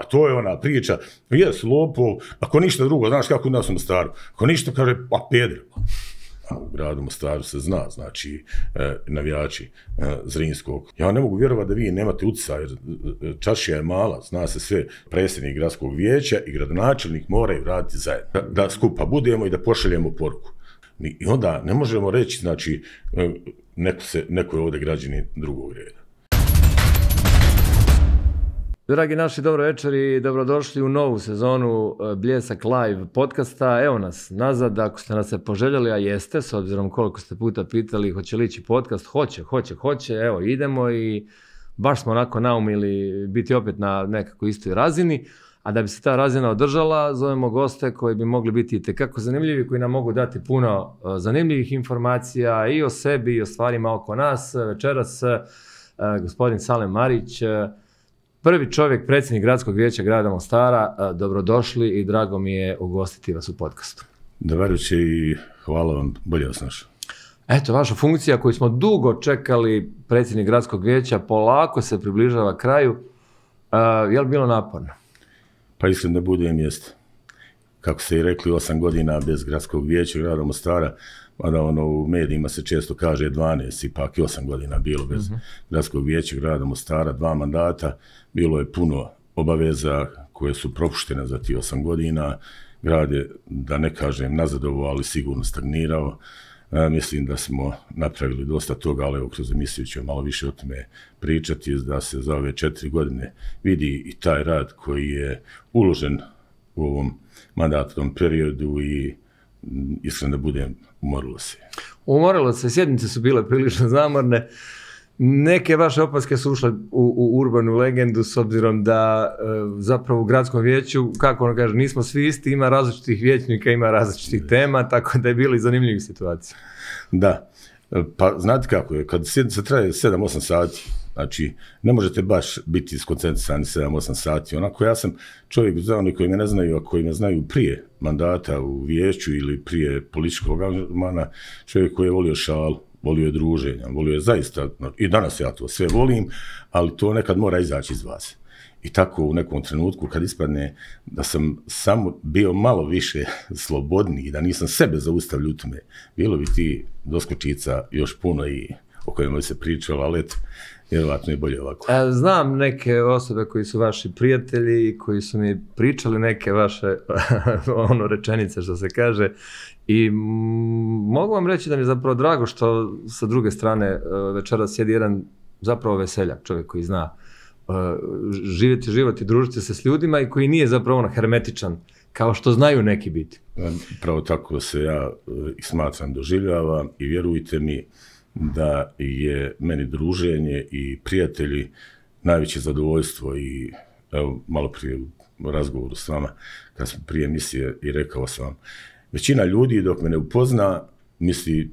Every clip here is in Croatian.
a to je ona priča, jes lopov, ako ništa drugo, znaš kako u nas u Mostaru, ako ništa kaže, pa peder. A u gradu Mostaru se zna, znači, navijači Zrinskog. Ja ne mogu vjerovati da vi nemate utjecaja, jer čaršija je mala, zna se sve, predsjednik gradskog vijeća i gradonačelnik moraju raditi zajedno. Da skupa budemo i da pošaljemo poruku. I onda ne možemo reći, znači, neko je ovdje građanin drugog reda. Dragi naši, dobro večer i dobrodošli u novu sezonu Bljesak Live podcasta. Evo nas nazad, ako ste nas se poželjeli, a jeste, s obzirom koliko ste puta pitali hoće li ići podcast, hoće, evo idemo i baš smo onako naumili biti opet na nekako istoj razini, a da bi se ta razina održala, zovemo goste koji bi mogli biti itekako zanimljivi, koji nam mogu dati puno zanimljivih informacija i o sebi i o stvarima oko nas. Večeras gospodin Salem Marić, prvi čovjek, predsjednik gradskog vijeća grada Mostara. Dobrodošli i drago mi je ugostiti vas u podcastu. Dobar večer i hvala vam, bolje vas našao. Eto, vaša funkcija koju smo dugo čekali, predsjednik gradskog vijeća, polako se približava kraju. Je li bilo naporno? Pa iskreno da budem jest. Kako ste i rekli, 8 godina bez gradskog vijeća grada Mostara, mada u medijima se često kaže 12, ipak i 8 godina bilo bez gradskog vijeća grada Mostara, 2 mandata, bilo je puno obaveza koje su propuštene za ti 8 godina. Grad je, da ne kažem nazadovao, ali sigurno stagnirao. Mislim da smo napravili dosta toga, ali evo kroz emisiju ću malo više o tome pričati, da se za ove 4 godine vidi i taj rad koji je uložen u ovom mandatnom periodu i iskreno da budem, umorilo se. Umorilo se, sjednice su bile prilično zamorne. Neke vaše opaske su ušle u urbanu legendu s obzirom da zapravo u gradskom vijeću, kako ono kaže, nismo svi isti, ima različitih vijećnika, ima različitih tema, tako da je bilo i zanimljivih situacija. Da, pa znate kako je, kad sjednica traje 7-8 sati, znači ne možete baš biti skoncentrisani 7-8 sati, onako ja sam čovjek za oni koji me ne znaju, a koji me znaju prije mandata u vijeću ili prije političkog angažmana, čovjek koji je volio šalu, volio je druženja, volio je zaista, i danas ja to sve volim, ali to nekad mora izaći iz vas. I tako u nekom trenutku kad ispadne da sam samo bio malo više slobodniji, da nisam sebe zaustavljao u tome, bilo bi ti doskočica još puno i o kojima bi se pričalo, ali eto, vjerovatno je bolje ovako. Znam neke osobe koji su vaši prijatelji i koji su mi pričali neke vaše rečenice što se kaže i mogu vam reći da mi je zapravo drago što sa druge strane večeras sjedi jedan zapravo veseljak, čovjek koji zna živjeti život i družiti se s ljudima i koji nije zapravo hermetičan kao što znaju neki biti. Pravo tako se ja i smatram, doživljavam i vjerujte mi da je meni druženje i prijatelji najveće zadovoljstvo i evo malo prije u razgovoru s vama kad smo prije emisije i rekao sam vam, većina ljudi dok me ne upozna misli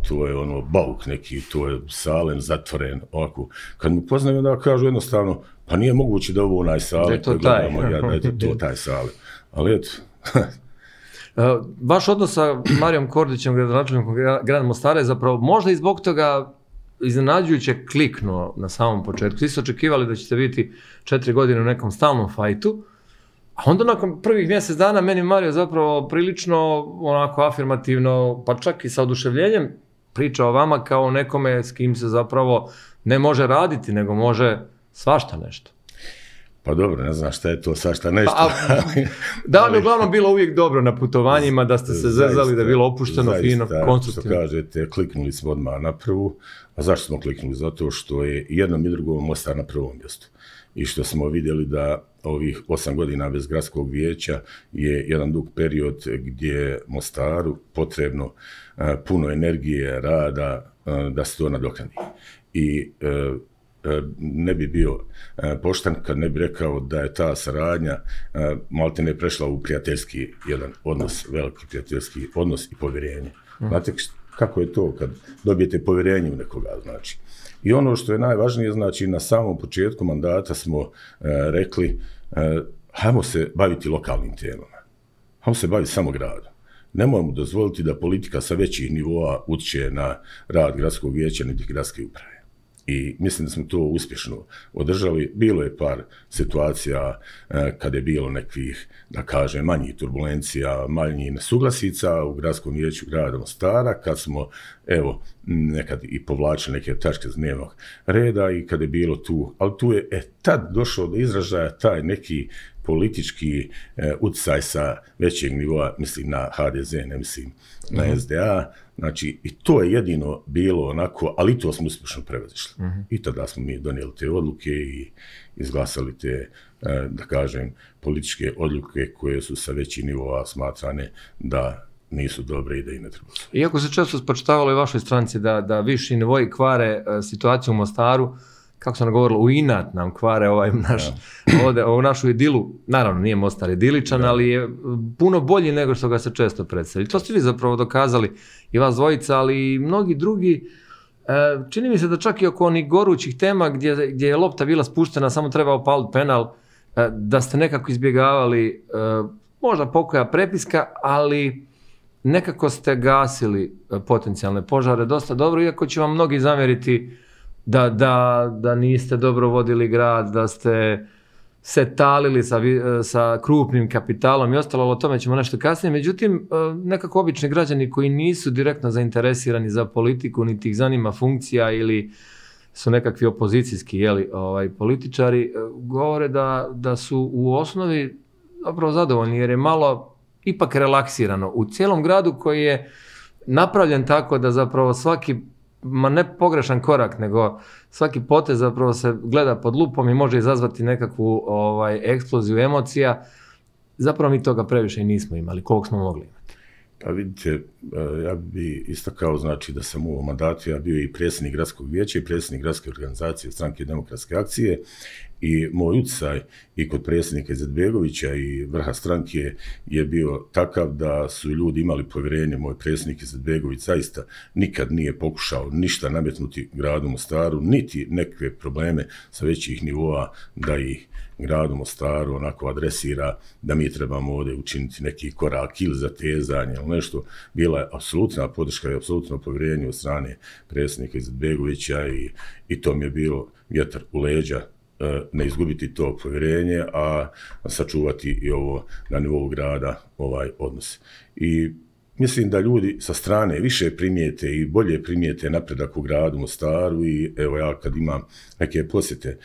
to je bauk neki, to je Salem zatvoren, ovako. Kad me upoznaju onda kažu jednostavno, pa nije moguće da ovo onaj Salem koji gledamo, da je to taj Salem. Ali eto. Vaš odnos sa Marijom Kordićem, gradonačelnikom grada Mostara, je zapravo možda i zbog toga iznenađujuće kliknuo na samom početku. Svi su očekivali da ćete biti 4 godine u nekom stalnom fajtu, a onda nakon prvih mjesec dana meni Mario zapravo prilično onako afirmativno, pa čak i sa oduševljenjem priča o vama kao nekome s kim se zapravo ne može raditi, nego može svašta nešto. Pa dobro, ne znam šta je to svašta nešto. Da vam je uglavnom bilo uvijek dobro na putovanjima, da ste se zezali, da je bilo opušteno, fino, konstruktivno. Što kažete, kliknuli smo odmah na prvu. A zašto smo kliknuli? Zato što je jednom i drugom Mostar na prvom mjestu. I što smo vidjeli da ovih 8 godina bez gradskog vijeća je jedan dug period gdje je Mostaru potrebno puno energije, rada da se to nadoknadi. I ne bi bio pošten kad ne bi rekao da je ta saradnja malte ne prešla u prijateljski jedan odnos, veliki prijateljski odnos i povjerenje. Znate kako je to kad dobijete povjerenje u nekoga, znači. I ono što je najvažnije, znači na samom početku mandata smo rekli hajmo se baviti lokalnim temama, hajmo se baviti samo gradom. Nemojmo dozvoliti da politika sa većih nivoa utječe na rad gradskog vijeća niti gradske uprave. I mislim da smo to uspješno održali. Bilo je par situacija kad je bilo nekih, da kažem, manjih turbulencija, manjih nesuglasica u gradskom vijeću grada Mostara, kad smo, evo, nekad i povlačili neke tačke z dnevnog reda i kad je bilo tu, ali tu je tad došao do izražaja taj neki politički utjecaj sa većeg nivoa, mislim na HDZ, ne mislim na SDA, znači i to je jedino bilo onako, ali to smo uspješno prevazišli. I tada smo mi donijeli te odluke i izglasali te, da kažem, političke odluke koje su sa većih nivoa smatrane da nisu dobre i da i ne treba. Iako se često spočitavalo i vašoj stranci da viši nivoi kvare situaciju u Mostaru, kako sam govorilo, u inat nam kvare ovu našu idilu. Naravno, nije Mostar idiličan, ali je puno bolji nego što ga se često predstavlja. To ste vi zapravo dokazali, i vas dvojica, ali i mnogi drugi. Čini mi se da čak i oko onih gorućih tema gdje je lopta bila spuštena, samo treba opaliti penal, da ste nekako izbjegavali možda pokoja prepiska, ali nekako ste gasili potencijalne požare dosta dobro, iako će vam mnogi zamjeriti da niste dobro vodili grad, da ste se talili sa krupnim kapitalom i ostalo, o tome ćemo nešto kasnije. Međutim, nekako obični građani koji nisu direktno zainteresirani za politiku, niti ih zanima funkcija ili su nekakvi opozicijski političari, govore da su u osnovi zapravo zadovoljni, jer je malo ipak relaksirano u cijelom gradu koji je napravljen tako da zapravo svaki, ma ne pogrešan korak, nego svaki potez zapravo se gleda pod lupom i može izazvati nekakvu eksploziju emocija. Zapravo mi toga previše i nismo imali, koliko smo mogli imati. Pa vidite, ja bi istakao, znači da sam u ovom mandatu, ja bio i predsjednik gradskog vijeća i predsjednik gradske organizacije Stranke demokratske akcije, i moj utjecaj i kod predsjednika Izetbegovića i vrha stranke je bio takav da su ljudi imali povjerenje. Moj predsjednik Izetbegović zaista nikad nije pokušao ništa nametnuti gradu Mostaru, niti nekakve probleme sa većih nivoa da ih gradu Mostaru onako adresira da mi trebamo ovdje učiniti neki korak ili zatezanje ili nešto. Bila je apsolutna podrška i apsolutno povjerenje od strane predsjednika Izetbegovića i to mi je bilo vjetar u leđa, ne izgubiti to povjerenje, a sačuvati i ovo na nivou grada odnos. I mislim da ljudi sa strane više primijete i bolje primijete napredak u gradu Mostaru i evo ja kad imam neke posjete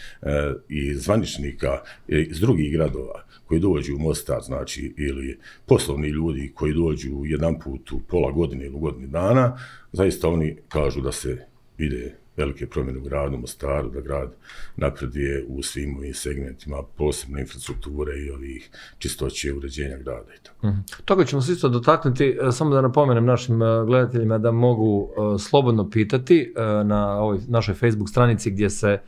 i zvaničnika iz drugih gradova koji dođu u Mostar, znači ili poslovni ljudi koji dođu jedan put u pola godine ili godinu dana, zaista oni kažu da se vide velike promjene u gradu Mostaru, da grad napreduje u svim ovim segmentima, posebno infrastrukture i ovih čistoće uređenja grada i tako. Toga ćemo se isto dotaknuti, samo da napomenem našim gledateljima da mogu slobodno pitati na ovoj našoj Facebook stranici gdje se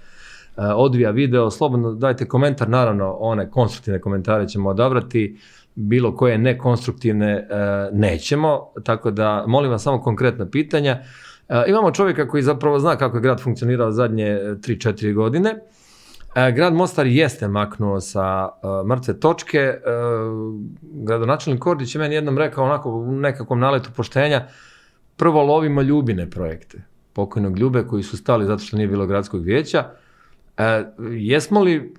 odvija video, slobodno dajte komentar, naravno one konstruktivne komentare ćemo odabrati, bilo koje nekonstruktivne nećemo, tako da molim vas samo konkretna pitanja. Imamo čovjeka koji zapravo zna kako je grad funkcionirao zadnje 3-4 godine. Grad Mostar jeste maknuo sa mrtve točke. Gradonačelnik Kordić je meni jednom rekao onako u nekakvom naletu poštenja, prvo lovimo Ljubine projekte, pokojnog Ljube koji su stali zato što nije bilo gradskog vijeća. Jesmo li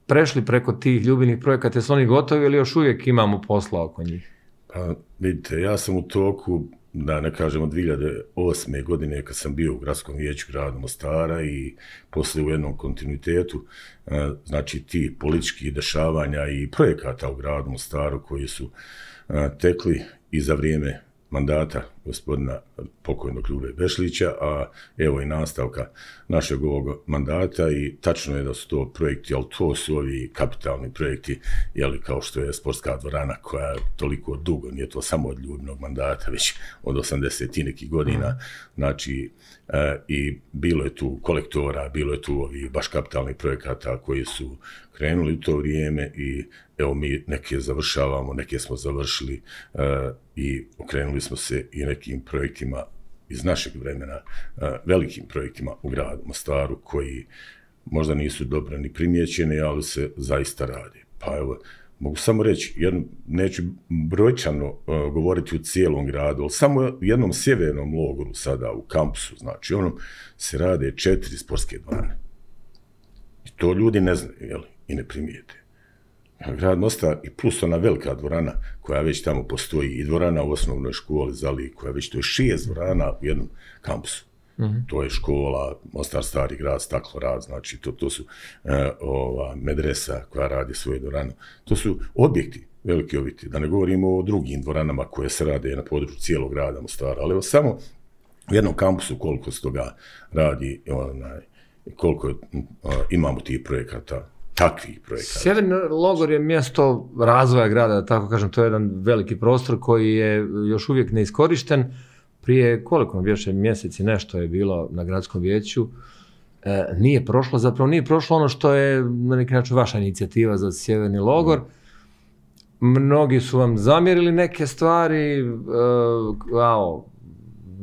prešli preko tih Ljubinih projekata, jesu oni gotovi ili još uvijek imamo posla oko njih? Pa vidite, ja sam u toku, da ne kažemo 2008. godine kad sam bio u gradskom vijeću grada Mostara i poslije u jednom kontinuitetu, znači ti političkih dešavanja i projekata u gradu Mostaru koji su tekli i za vrijeme mandata gospodina pokojnog Ljube Bešlića, a evo i nastavka našeg ovog mandata i tačno je da su to projekti, ali to su ovi kapitalni projekti, jeli kao što je sportska dvorana koja je toliko dugo, nije to samo od Ljubinog mandata, već od 80 i nekih godina, znači i bilo je tu kolektora, bilo je tu ovi baš kapitalnih projekata koji su krenuli u to vrijeme i evo mi neke završavamo, neke smo završili i okrenuli smo se i nekim projektima iz našeg vremena, velikim projektima u gradu Mostaru koji možda nisu dobro ni primijećeni, ali se zaista radi. Pa evo, mogu samo reći, neću brojčano govoriti u cijelom gradu, ali samo u jednom sjevernom logoru sada, u kampusu, znači onom se rade 4 sportske dvorane. I to ljudi ne znaju, jel, i ne primijete. Grad Mostar i plus ona velika dvorana koja već tamo postoji i dvorana u osnovnoj školi Zali, koja već to je 6 dvorana u jednom kampusu. To je škola, Mostar Stari grad, Staklorad, znači to su medresa koja radi svoje dvorane. To su objekti, veliki objekti, da ne govorimo o drugim dvoranama koje se rade na području cijelog grada Mostara, ali evo samo u jednom kampusu koliko se toga radi, koliko imamo tih projekata, takvih projekata. Sjeverni logor je mjesto razvoja grada, da tako kažem, to je jedan veliki prostor koji je još uvijek neiskorišten. Prije koliko mi više mjeseci nešto je bilo na gradskom vijeću, nije prošlo ono što je na neki način vaša inicijativa za sjeverni logor. Mnogi su vam zamjerili neke stvari,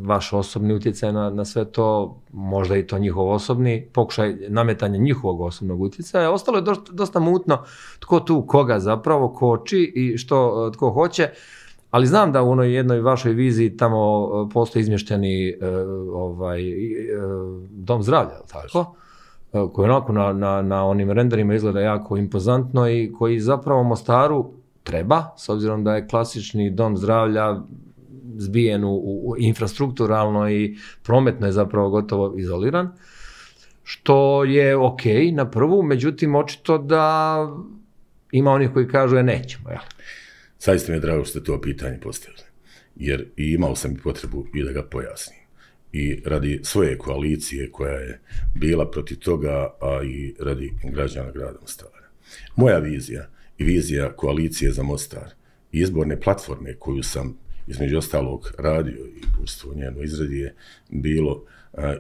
vaš osobni utjecaj na sve to, možda i to njihov osobni, pokušaj nametanja njihovog osobnog utjecaja. Ostalo je dosta mutno tko tu koga zapravo koči i što tko hoće. Ali znam da u onoj jednoj vašoj viziji tamo postoji izmješteni dom zdravlja, tako? Koji onako na onim renderima izgleda jako impozantno i koji zapravo Mostaru treba, s obzirom da je klasični dom zdravlja zbijen u infrastrukturalno i prometno je zapravo gotovo izoliran, što je ok na prvu, međutim očito da ima onih koji kažu nećemo, jel? Zaista mi je drago što ste to pitanje postavili, jer i imao sam i potrebu i da ga pojasnim. I radi svoje koalicije koja je bila protiv toga, a i radi građana grada Mostara. Moja vizija i vizija koalicije za Mostar i izborne platforme koju sam između ostalog radio i učestvovao u njenoj izradi je bilo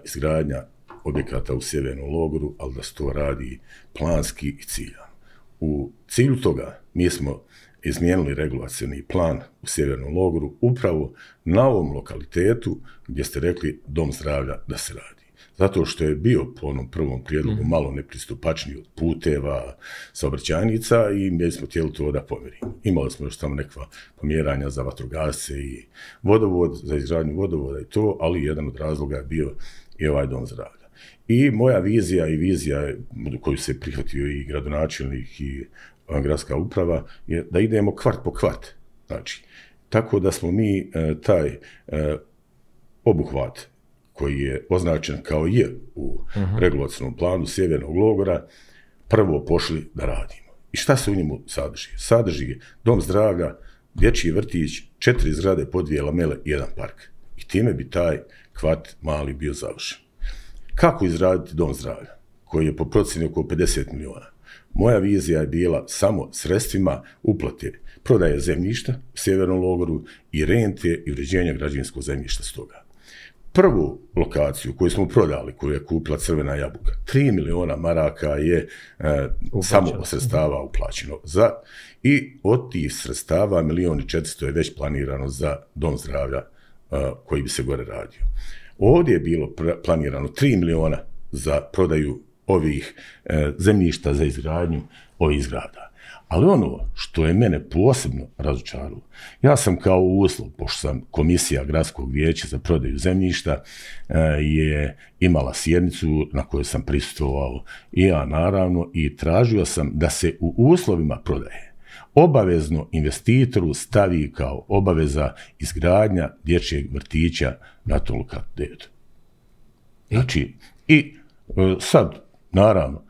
izgradnja objekata u sjevernom logoru, ali da se to radi planski i ciljano. U cilju toga mi smo izmijenili regulacioni plan u sjevernom logoru upravo na ovom lokalitetu gdje ste rekli dom zdravlja da se radi. Zato što je bio po onom prvom prijedlogu malo nepristupačniji od puteva, saobraćajnica i mi smo htjeli to da pomjerimo. Imali smo još tamo nekakva pomjeranja za vatrogasce i vodovod, za izgradnju vodovoda i to, ali jedan od razloga je bio i ovaj dom zdravlja. I moja vizija i vizija koju se prihvatio i gradonačelnik i gradska uprava je da idemo kvart po kvart. Znači, tako da smo mi taj obuhvat koji je označen kao J u regulacionom planu sjevernog logora, prvo pošli da radimo. I šta se u njemu sadrži? Sadrži dom zdravlja, dječji vrtić, 4 zgrade po 2 lamele i 1 park. I time bi taj kvart mali bio završen. Kako izraditi dom zdravlja, koji je po procjeni oko 50 milijuna? Moja vizija je bila samo sredstvima uplate prodaje zemljišta u sjevernom logoru i rente i uređenja građevinskog zemljišta s toga. Prvu lokaciju koju smo prodali, koju je kupila Crvena jabuka, 3 miliona maraka je samo od sredstava uplaćeno. I od tih sredstava 1.400.000 je već planirano za dom zdravlja koji bi se gore radio. Ovdje je bilo planirano 3 miliona za prodaju ovih zemljišta za izgradnju ovih zgrada. Ali ono što je mene posebno razočaralo, ja sam kao uslov, pošto sam komisija gradskog vijeća za prodaju zemljišta, je imala sjednicu na kojoj sam prisustvovao i ja naravno i tražio sam da se u uslovima prodaje obavezno investitoru stavi kao obaveza izgradnja dječjeg vrtića na tom lokalitetu. Znači, i sad, naravno,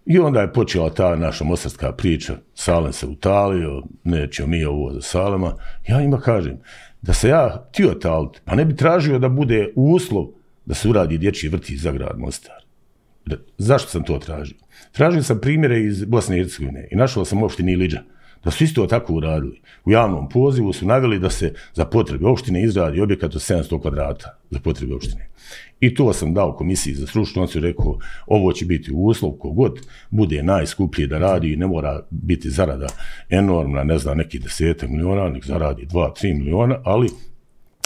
i onda je počela ta naša mostarska priča, Salem se utalio, nećemo mi ovo za Salema. Ja njima kažem, da se ja htio taliti, pa ne bi tražio da bude uslov da se uradi dječji vrtić za grad Mostar. Zašto sam to tražio? Tražio sam primjere iz Bosne i Hercegovine i našao sam u opštini Iliđa, da su isto tako uradili. U javnom pozivu su naveli da se za potrebe opštine izradi objekat od 700 kvadrata za potrebe opštine. I to sam dao komisiji za stručnu, on su rekao, ovo će biti uslov, kogod bude najskuplji da radi i ne mora biti zarada enormna, ne znam, neki 10 miliona, nek zaradi 2-3 miliona, ali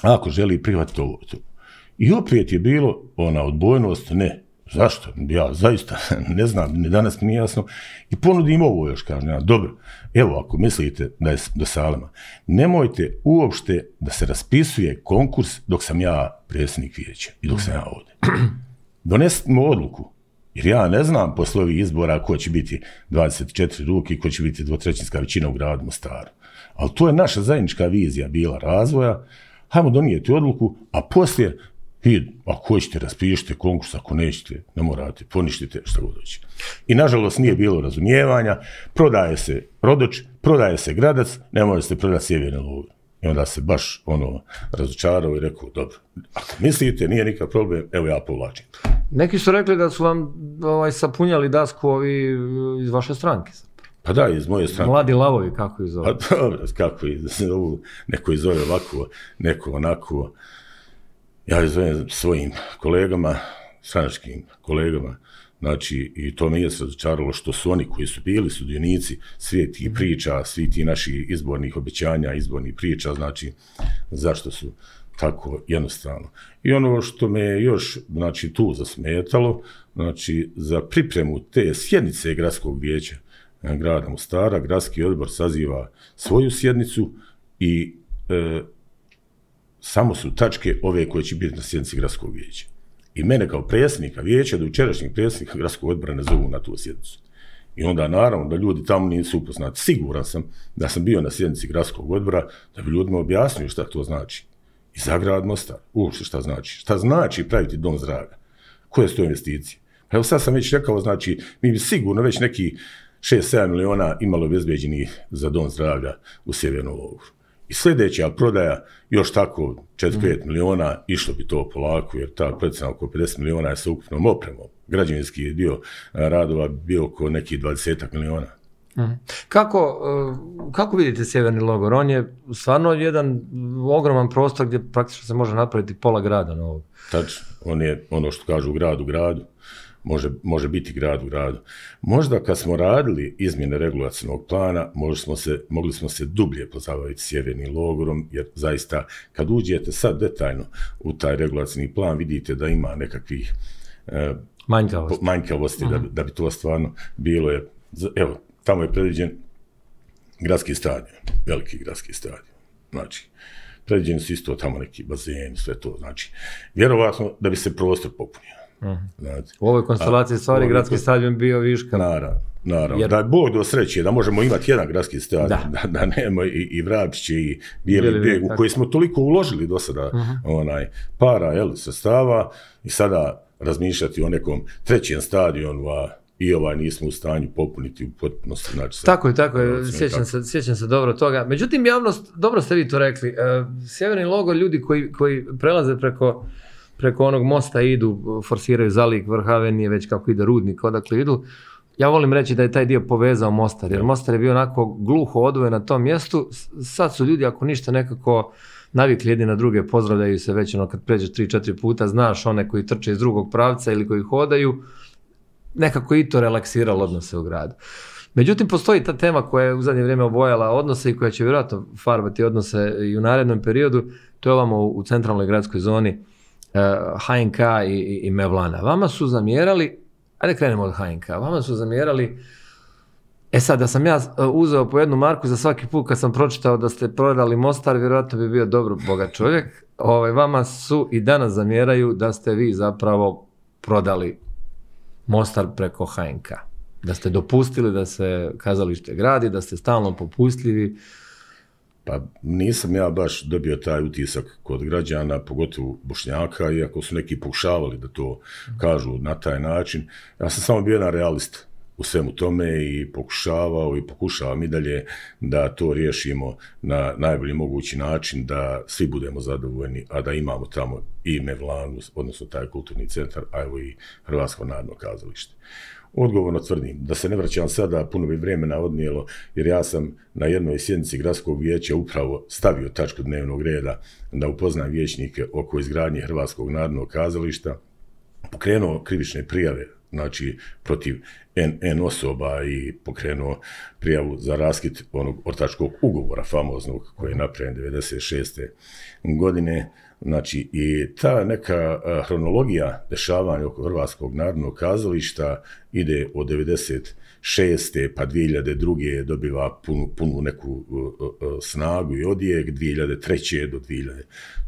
ako želi prihvatiti ovo to. I opet je bilo ona odbojnost, ne, Zašto? Ja zaista ne znam, ni danas mi nije jasno. I ponudim ovo još, kažem, ja, dobro, evo, ako mislite da je do Salema, nemojte uopšte da se raspisuje konkurs dok sam ja predsjednik vijeća i dok sam ja ovdje. Donesimo odluku, jer ja ne znam posle ovih izbora ko će biti 24 ruke i ko će biti dvotrećinska većina u gradu Mostaru. Ali to je naša zajednička vizija bila razvoja. Hajmo donijeti odluku, a poslije ako hoćete, raspišite konkurs, ako nećete, ne morate, poništite šta god hoće. I nažalost nije bilo razumijevanja, prodaje se Rodoč, prodaje se Gradac, ne možete prodati Sjeverni Logor. I onda se baš razočarao i rekao, dobro, ako mislite, nije nikakav problem, evo ja povlačim. Neki su rekli da su vam sapunjali dasku ovi iz vaše stranke. Pa da, iz moje stranke. Mladi lavovi, kako ih zove? Pa dobro, kako ih zovu, neko ih zove ovako, neko onako. Ja ih zovem svojim kolegama, stranačkim kolegama, znači i to me je razočaralo što su oni koji su bili sudionici svih tih priča, svih tih naših izbornih obećanja, izbornih priča, znači zašto su tako jednostavno. I ono što me je još, znači, tu zasmetalo, znači za pripremu te sjednice gradskog vijeća grada Mostara, gradski odbor saziva svoju sjednicu i samo su tačke ove koje će biti na sjednici gradskog vijeća. I mene kao predsjednika vijeća, do jučerašnjeg predsjednika gradskog odbora ne zovu na tu sjednicu. I onda naravno da ljudi tamo nisu upoznati. Siguran sam da sam bio na sjednici gradskog odbora da bi ljudima objasnio šta to znači. I za grad Mostar, uopšte šta znači. Šta znači praviti dom zdravlja? Koje su to investicije? Pa evo sad sam već rekao, znači mi bi sigurno već neki 6-7 miliona imalo obezbeđenih za dom zdravlja u Sjevernom Logoru. I sljedeća prodaja, još tako 4-5 miliona, išlo bi to polako, jer ta procena oko 50 miliona je sa ukupnom opremom. Građevinski dio radova bio oko nekih 20 miliona. Kako vidite Sjeverni Logor? On je stvarno jedan ogroman prostor gdje praktično se može napraviti pola grada novog. Tačno, on je ono što kažu grad u gradu. Može biti grad u gradu. Možda kad smo radili izmjene regulacijnog plana, mogli smo se dublje pozabaviti Sjevernim Logorom, jer zaista kad uđete sad detaljno u taj regulacijni plan, vidite da ima nekakvih manjkavosti da bi to stvarno bilo. Evo, tamo je predviđen gradski stadion, veliki gradski stadion. Znači, predviđeni su isto tamo neki bazeni, sve to. Znači, vjerovatno da bi se prostor popunio. U ovoj konstelaciji stvari gradski stadion bio viška. Naravno. Da je Bog do sreće, da možemo imati jedan gradski stadion, da nema i Vrapčiće i Bijeli Brijeg, u koji smo toliko uložili do sada para, sredstava, i sada razmišljati o nekom trećem stadionu, i nismo u stanju popuniti u potpunosti. Znači, tako je, sjećam se dobro toga. Međutim, javnost, dobro ste vi to rekli, Sjeverni Logor, ljudi koji prelaze preko onog mosta idu, forsiraju Zalik, Vrh Avenije, već kako ide Rudnik, odakle idu. Ja volim reći da je taj dio povezao Mostar, jer Mostar je bio onako gluho odvojen na tom mjestu. Sad su ljudi, ako ništa, nekako navikli jedni na druge, pozdravljaju se već kad pređeš 3-4 puta, znaš one koji trče iz drugog pravca ili koji hodaju, nekako i to relaksiralo odnose u gradu. Međutim, postoji ta tema koja je u zadnje vrijeme obojala odnose i koja će vjerojatno farbati odnose i u narednom periodu, to je ovamo u centralnoj gradskoj zoni, HNK i Mevlana. Vama su zamjerali, ajde krenemo od HNK, vama su zamjerali, sad da sam ja uzeo po jednu marku za svaki put kad sam pročitao da ste prodali Mostar, vjerojatno bi bio dobro bogat čovjek. Vama su i danas zamjeraju da ste vi zapravo prodali Mostar preko HNK. Da ste dopustili da se kazalište gradi, da ste stalno popustljivi. Pa nisam ja baš dobio taj utisak kod građana, pogotovo Bošnjaka, iako su neki pokušavali da to kažu na taj način. Ja sam samo bio jedan realist u svemu tome i pokušavam i dalje da to riješimo na najbolji mogući način, da svi budemo zadovoljni, a da imamo tamo i Mevlanu, odnosno taj kulturni centar, a evo i Hrvatsko narodno kazalište. Odgovorno tvrdim da se ne vraćam sada, puno bi vremena odnijelo, jer ja sam na jednoj sjednici gradskog vijeća upravo stavio tačku dnevnog reda da upoznam vijećnike oko izgradnje Hrvatskog narodnog kazališta, pokrenuo krivične prijave znači protiv N osoba i pokrenuo prijavu za raskid onog ortačkog ugovora famoznog koji je napravljen 96. godine. Znači, i ta neka hronologija dešavanja oko Hrvatskog narodnog kazališta ide od 96. pa 2002. dobiva punu neku snagu i odjek, 2003. do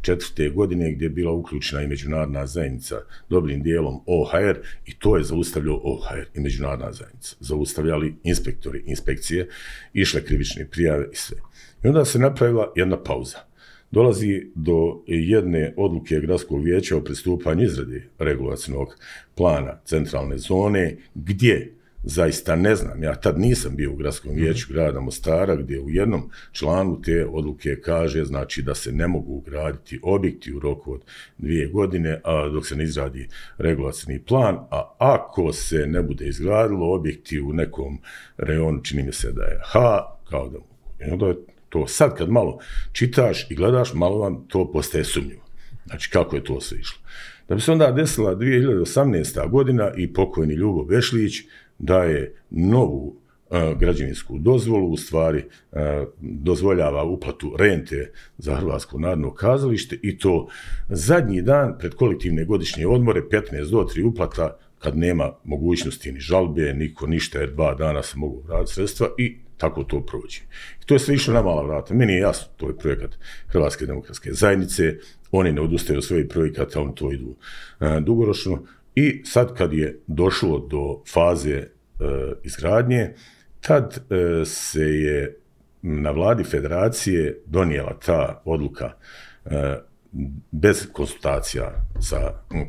2004. godine gdje je bila uključena i međunarodna zajednica dobrim dijelom OHR i to je zaustavljao OHR i međunarodna zajednica. Zaustavljali inspektori, inspekcije, išle krivične prijave i sve. I onda se napravila jedna pauza. Dolazi do jedne odluke Gradskog vijeća o pristupanju izradi regulacionog plana centralne zone, gdje, zaista ne znam, ja tad nisam bio u Gradskom vijeću grada Mostara, gdje u jednom članu te odluke kaže, znači da se ne mogu graditi objekti u roku od 2 godine, a dok se ne izradi regulacioni plan, a ako se ne bude izgradilo objekti u nekom rejonu, čini mi se da je H, kao da mogu. I onda je to sad kad malo čitaš i gledaš, malo vam to postaje sumnjivo. Znači, kako je to sve išlo. Da bi se onda desila 2018. godina i pokojni Ljubo Bešlić daje novu građevinsku dozvolu, u stvari dozvoljava uplatu rente za Hrvatsko narodno kazalište i to zadnji dan pred kolektivne godišnje odmore, 15 do 3 uplata, kad nema mogućnosti ni žalbe, niko ništa, jer 2 dana se mogu vratiti sredstva i tako to prođe. I to je sve išlo na mala vrata. Meni je jasno, to je projekat Hrvatske demokratske zajednice, oni ne odustaju od svojih projekata, oni to idu dugoročno. I sad kad je došlo do faze izgradnje, tad se je na vladi federacije donijela ta odluka bez konsultacija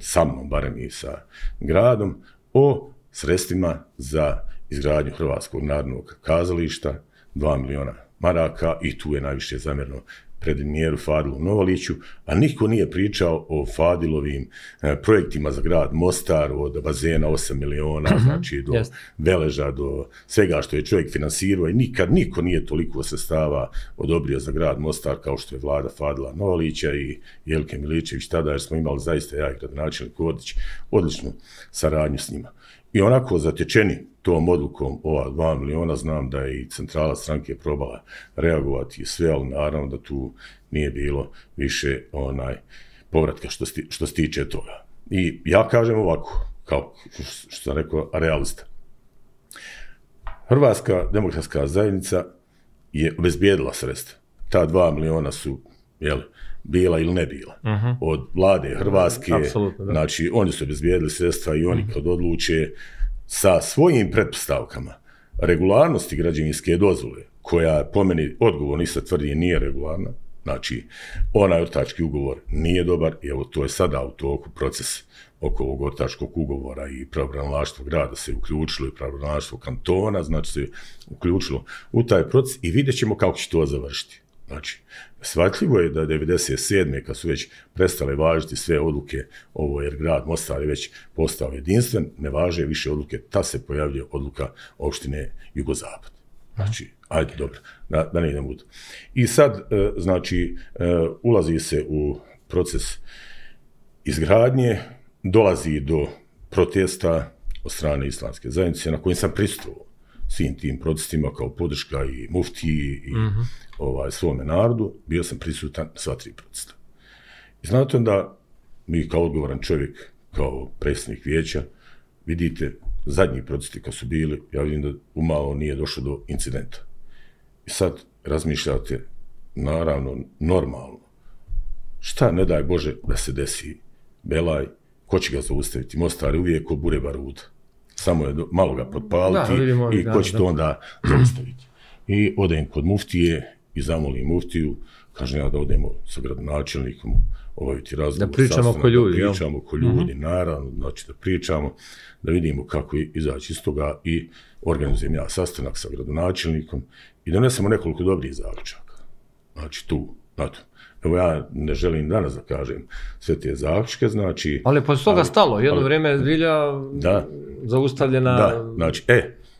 sa mnom, barem i sa gradom, o sredstvima za izgradnju Hrvatskog narodnog kazališta, 2 miliona maraka i tu je najviše zamjerno premijeru Fadilu Novaliću, a niko nije pričao o Fadilovim projektima za grad Mostar, od bazena 8 miliona, znači do Veleža, do svega što je čovjek finansirao i nikad niko nije toliko sredstava odobrio za grad Mostar kao što je vlada Fadila Novalića i Jelke Miličević tada, jer smo imali zaista ja i gradonačelnik Kordić odličnu saradnju s njima. I onako zatečeni tom odlukom ova 2 miliona, znam da je i centrala stranke probala reagovati i sve, ali naravno da tu nije bilo više povratka što se tiče toga. I ja kažem ovako, kao što sam rekao, realista. Hrvatska demokratska zajednica je obezbijedila sredstva. Ta 2 miliona su, bila ili ne bila. Od vlade Hrvatske, znači oni su obezbijedili sredstva i oni kad odluče sa svojim pretpostavkama regularnosti građevinske dozvole, koja po meni odgovorno i sad tvrdi nije regularna, znači onaj ortački ugovor nije dobar i evo to je sada u toku proces oko ovog ortačkog ugovora i pravobranilaštvo grada se uključilo i pravobranilaštvo kantona, znači se uključilo u taj proces i vidjet ćemo kako će to završiti. Znači, shvatljivo je da 1997. kad su već prestale važiti sve odluke ovo, jer grad Mostar je već postao jedinstven, ne važe više odluke, ta se pojavljuje odluka opštine Jugozapad. Znači, ajde, dobro, da ne idemo u to. I sad, znači, ulazi se u proces izgradnje, dolazi do protesta od strane islamske zajednice na kojim sam prisustvovao svim tim protestima kao podrška i muftiji i svome narodu, bio sam prisutan sva 3 protesta. I znate da mi kao odgovoran čovjek, kao predsjednik vijeća, vidite, zadnji protesti kad su bili, ja vidim da umalo nije došlo do incidenta. I sad razmišljate, naravno, normalno, šta ne daj Bože da se desi Belaj, ko će ga zaustaviti? Mostar je uvijek ko bure baruta. Samo je malo ga potpaliti i ko će to onda zaustaviti. I odem kod muftije i zamolim muftiju, kažem ja da odemo sa gradonačelnikom obaviti razgovor. Da pričamo oko ljudi. Da pričamo oko ljudi, naravno, znači da pričamo, da vidimo kako izaći iz toga i organizujem ja sastanak sa gradonačelnikom i donesemo nekoliko dobrih zaključaka. Znači tu, znate. Evo ja ne želim danas da kažem sve te zaključke, znači... Ali je posle toga stalo, jedno vrijeme je zbilja zaustavljena... Da, znači,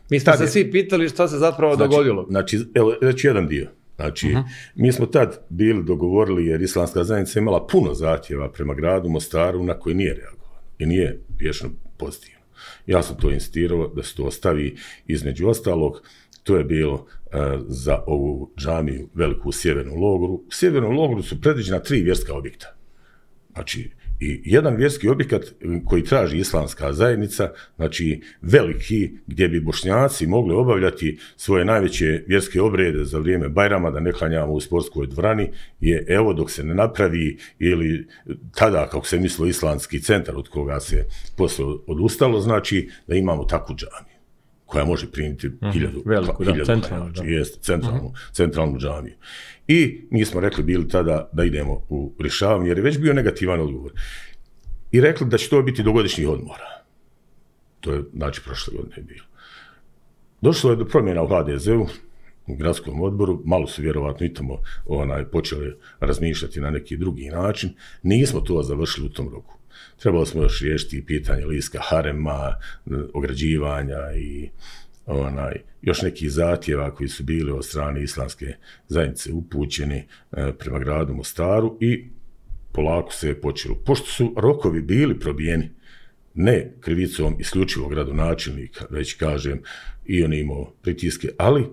mi smo se svi pitali šta se zapravo dogodilo. Znači, evo, reći jedan dio. Znači, mi smo tad bili dogovorili, jer islamska zajednica imala puno zahtjeva prema gradu Mostaru na koji nije reagovano i nije riješeno pozitivno. Ja sam to insistirao da se to ostavi, između ostalog, to je bilo za ovu džamiju veliku u Sjevernom logoru. U Sjevernom logoru su predviđena 3 vjerska objekta. Znači, i jedan vjerski objekat koji traži islamska zajednica, znači veliki, gdje bi Bošnjaci mogli obavljati svoje najveće vjerske obrede za vrijeme Bajrama, da ne klanjamo u sportskoj dvorani, je evo dok se ne napravi, ili tada kako se mislilo islamski centar od koga se poslije odustalo, znači da imamo takvu džamiju koja može primiti 1000 centralnu džamiju. I mi smo rekli bili tada da idemo u rješavanje, jer je već bio negativan odgovor. I rekli da će to biti do godišnjih odmora. To je, znači, prošle godine bilo. Došlo je do promjena u HDZ-u, u gradskom odboru, malo su vjerovatno i tamo počeli razmišljati na neki drugi način. Nismo to završili u tom roku. Trebalo smo još riješiti pitanje liska harema, ograđivanja i još nekih zahtjeva koji su bili od strane islamske zajednice upućeni prema gradu Mostaru i polako se je počelo. Pošto su rokovi bili probijeni, ne krivicom isključivog gradonačelnika, već kažem i on imao pritiske, ali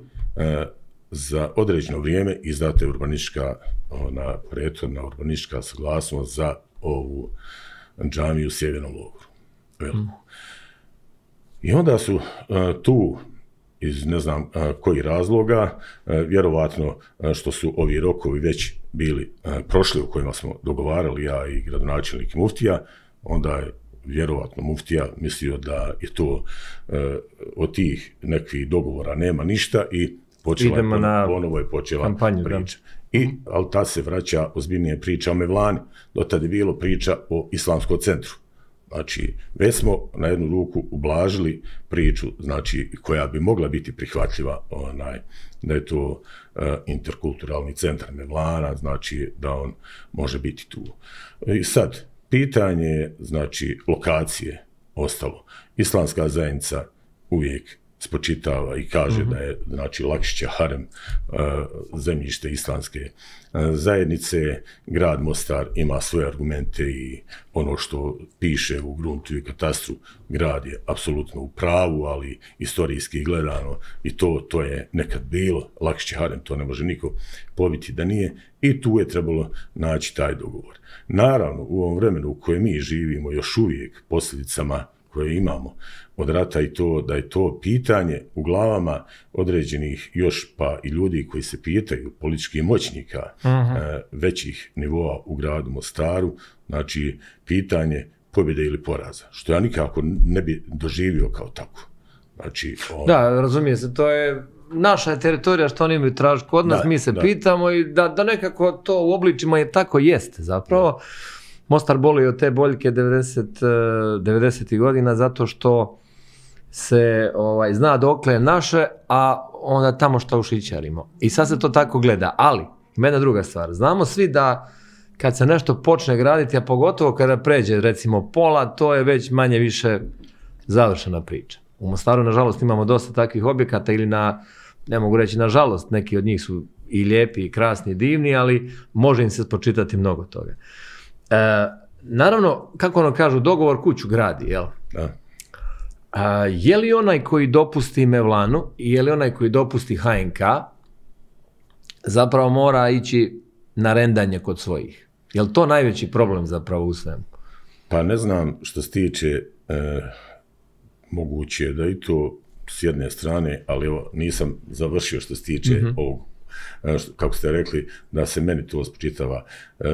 za određeno vrijeme izdata je prethodna urbanistička saglasnost za ovu džamiju u Sjevernom logoru. I onda su tu iz ne znam kojih razloga, vjerovatno što su ovi rokovi već bili prošli u kojima smo dogovarali ja i gradonačelnik Muftija, onda je vjerovatno Muftija mislio da je to od tih nekih dogovora nema ništa i ponovo je počela kampanju, priča. Ali tad se vraća ozbiljnije priča o Mevlani, do tada je bilo priča o islamskom centru. Znači, već smo na jednu ruku ublažili priču, znači, koja bi mogla biti prihvatljiva, da je to interkulturalni centar Mevlana, znači da on može biti tu. I sad, pitanje je, znači, lokacije ostalo. Islamska zajednica uvijek spočitava i kaže da je, znači, Lakšića harem zemljište islamske zajednice. Grad Mostar ima svoje argumente i ono što piše u gruntu i katastru, grad je apsolutno u pravu, ali istorijski gledano i to je nekad bilo. Lakšići harem, to ne može niko pobiti da nije, i tu je trebalo naći taj dogovor. Naravno, u ovom vremenu u kojem mi živimo, još uvijek posljedicama koje imamo od rata, i to da je to pitanje u glavama određenih još pa i ljudi koji se pitaju, političkih moćnika većih nivoa u gradu Mostaru, znači pitanje pobjede ili poraza, što ja nikako ne bi doživio kao tako. Znači, Da, razumije se, to je naša teritorija što oni imaju tražiti kod nas, mi se pitamo i da nekako to u obličima je tako jeste zapravo. Mostar boli od te boljke 90. godina zato što se zna dokle je naše, a onda tamo što ušićarimo. I sad se to tako gleda, ali ima jedna druga stvar. Znamo svi da kad se nešto počne graditi, a pogotovo kada pređe recimo pola, to je već manje više završena priča. U Mostaru, nažalost, imamo dosta takvih objekata ili ne mogu reći nažalost, neki od njih su i lijepi, i krasni, i divni, ali može im se spočitati mnogo toga. Naravno, kako ono kažu, dogovor kuću gradi, jel? Da. Je li onaj koji dopusti Mevlanu i je li onaj koji dopusti HNK zapravo mora ići na rendanje kod svojih? Je li to najveći problem zapravo u svemu? Pa ne znam, što se tiče moguće da i to s jedne strane, ali evo nisam završio što se tiče ovog, kako ste rekli, da se meni to spočitava.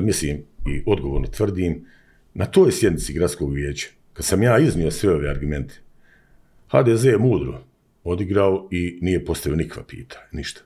Mislim i odgovorno tvrdim, na toj sjednici gradskog vijeća, kad sam ja iznio sve ove argumente, HDZ je mudro odigrao i nije postavio nikakva pitanja, ništa.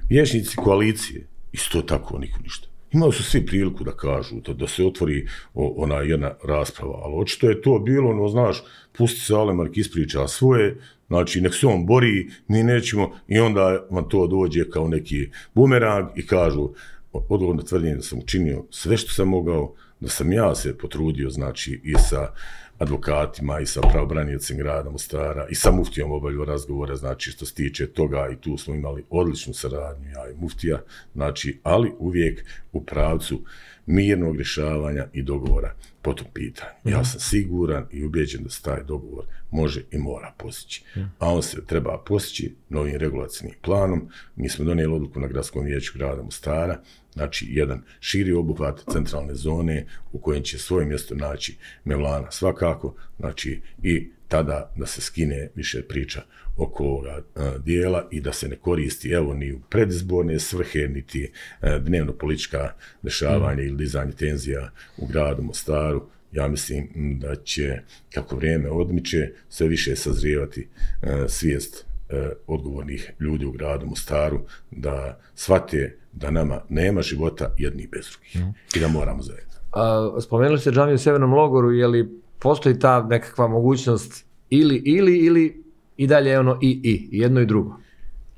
Vijećnici koalicije, isto tako niko ništa. Imali su svi priliku da kažu, da se otvori ona jedna rasprava, ali očito je to bilo, znaš, pusti se Alemark ispriča svoje, znači nek se on bori, mi nećemo, i onda vam to dođe kao neki bumerang i kažu, odgovorno tvrdim da sam učinio sve što sam mogao, da sam ja se potrudio, znači, i sa advokatima i sa pravobraniteljicom grada Mostara i sa muftijom obavljao razgovore, znači što se tiče toga i tu smo imali odličnu saradnju, ja i muftija, znači, ali uvijek u pravcu mirnog rješavanja i dogovora po tom pitanju. Ja sam siguran i ubijeđen da se taj dogovor može i mora postići. A on se treba postići novim regulacijnim planom. Mi smo donijeli odluku na Gradskom vijeću grada Mostara, znači jedan širi obuhvat centralne zone u kojem će svoje mjesto naći Mevlana svakako, znači i tada da se skine više priča oko ovoga dijela i da se ne koristi evo ni u predizborne svrhe, niti dnevno politička dešavanja ili dizanje tenzija u gradu Mostaru. Ja mislim da će, kako vrijeme odmiče, sve više sazrijevati svijest odgovornih ljudi u gradu Mostaru da shvate da nama nema života jedni bez drugih i da moramo zajedno. Spomenuli ste džamiju u Sjevernom logoru, je li postoji ta nekakva mogućnost ili i dalje ono i jedno i drugo?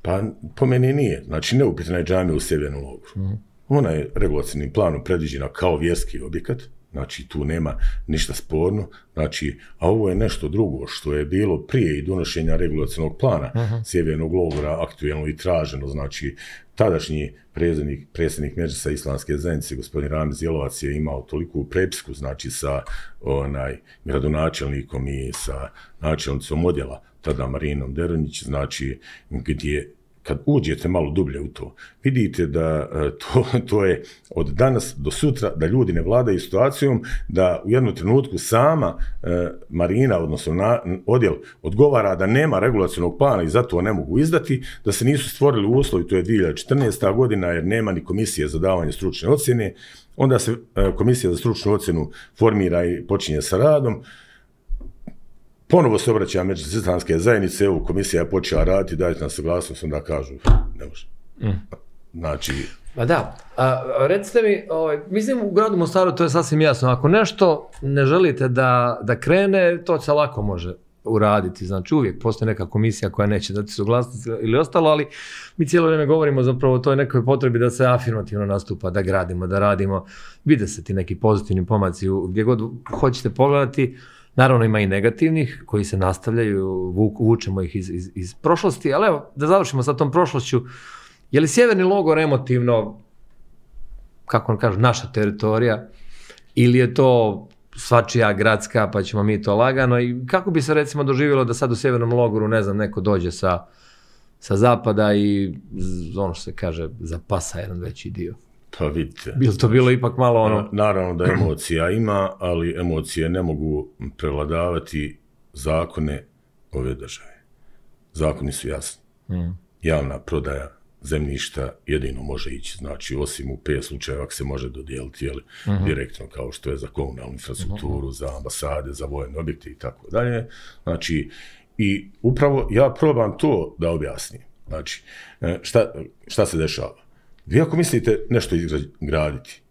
Pa po meni nije. Znači neupitna je džamija u Sjevernom logoru. Ona je regulacijnim planom predviđena kao vjerski objekat, znači tu nema ništa sporno, znači, a ovo je nešto drugo što je bilo prije i donošenja regulacijnog plana Sjevernog logora aktuelno i traženo, znači tadašnji predsjednik Medžlisa Islamske zajednice, gospodin Ramiz Jelovac, je imao toliku prepisku, znači sa gradonačelnikom i sa načelnicom odjela, tada Marinom Deronić, znači gdje kad uđete malo dublje u to, vidite da to je od danas do sutra, da ljudi ne vladaju situacijom, da u jednom trenutku sama Marina, odnosno odjel, odgovara da nema regulacijnog plana i zato ne mogu izdati, da se nisu stvorili uslovi, to je 2014. godina, jer nema ni komisije za davanje stručne ocjene, onda se komisija za stručnu ocjenu formira i počinje sa radom. Ponovo se obraća Medžlis Islamske zajednice, evo komisija je počela raditi, dajte nam saglasnost, onda kažu, ne može. Znači... Pa da, recite mi, mislim u gradu Mostaru to je sasvim jasno, ako nešto ne želite da krene, to se lako može uraditi, znači uvijek postoji neka komisija koja neće dati suglasnost ili ostalo, ali mi cijelo vrijeme govorimo zapravo o toj nekoj potrebi da se afirmativno nastupa, da gradimo, da radimo, vide se ti neki pozitivni pomaci gdje god hoćete pogledati. Naravno ima i negativnih koji se nastavljaju, vučemo ih iz prošlosti, ali evo da završimo sa tom prošlošću. Je li Sjeverni logor emotivno, kako on kaže, naša teritorija ili je to svačija gradska pa ćemo mi to lagano i kako bi se recimo doživjelo da sad u Sjevernom logoru, ne znam, neko dođe sa zapada i ono što se kaže zapasa jedan veći dio? Pa vidite. Bilo to bilo ipak malo ono... Naravno da emocija ima, ali emocije ne mogu prevladavati zakone ove države. Zakoni su jasni. Javna prodaja zemljišta jedino može ići, znači osim u 5 slučajeva ako se može dodijeliti direktno kao što je za komunalnu infrastrukturu, za ambasade, za vojne objekte i tako dalje. Znači, i upravo ja probam to da objasnim. Znači, šta se dešava? Vi ako mislite nešto izgraditi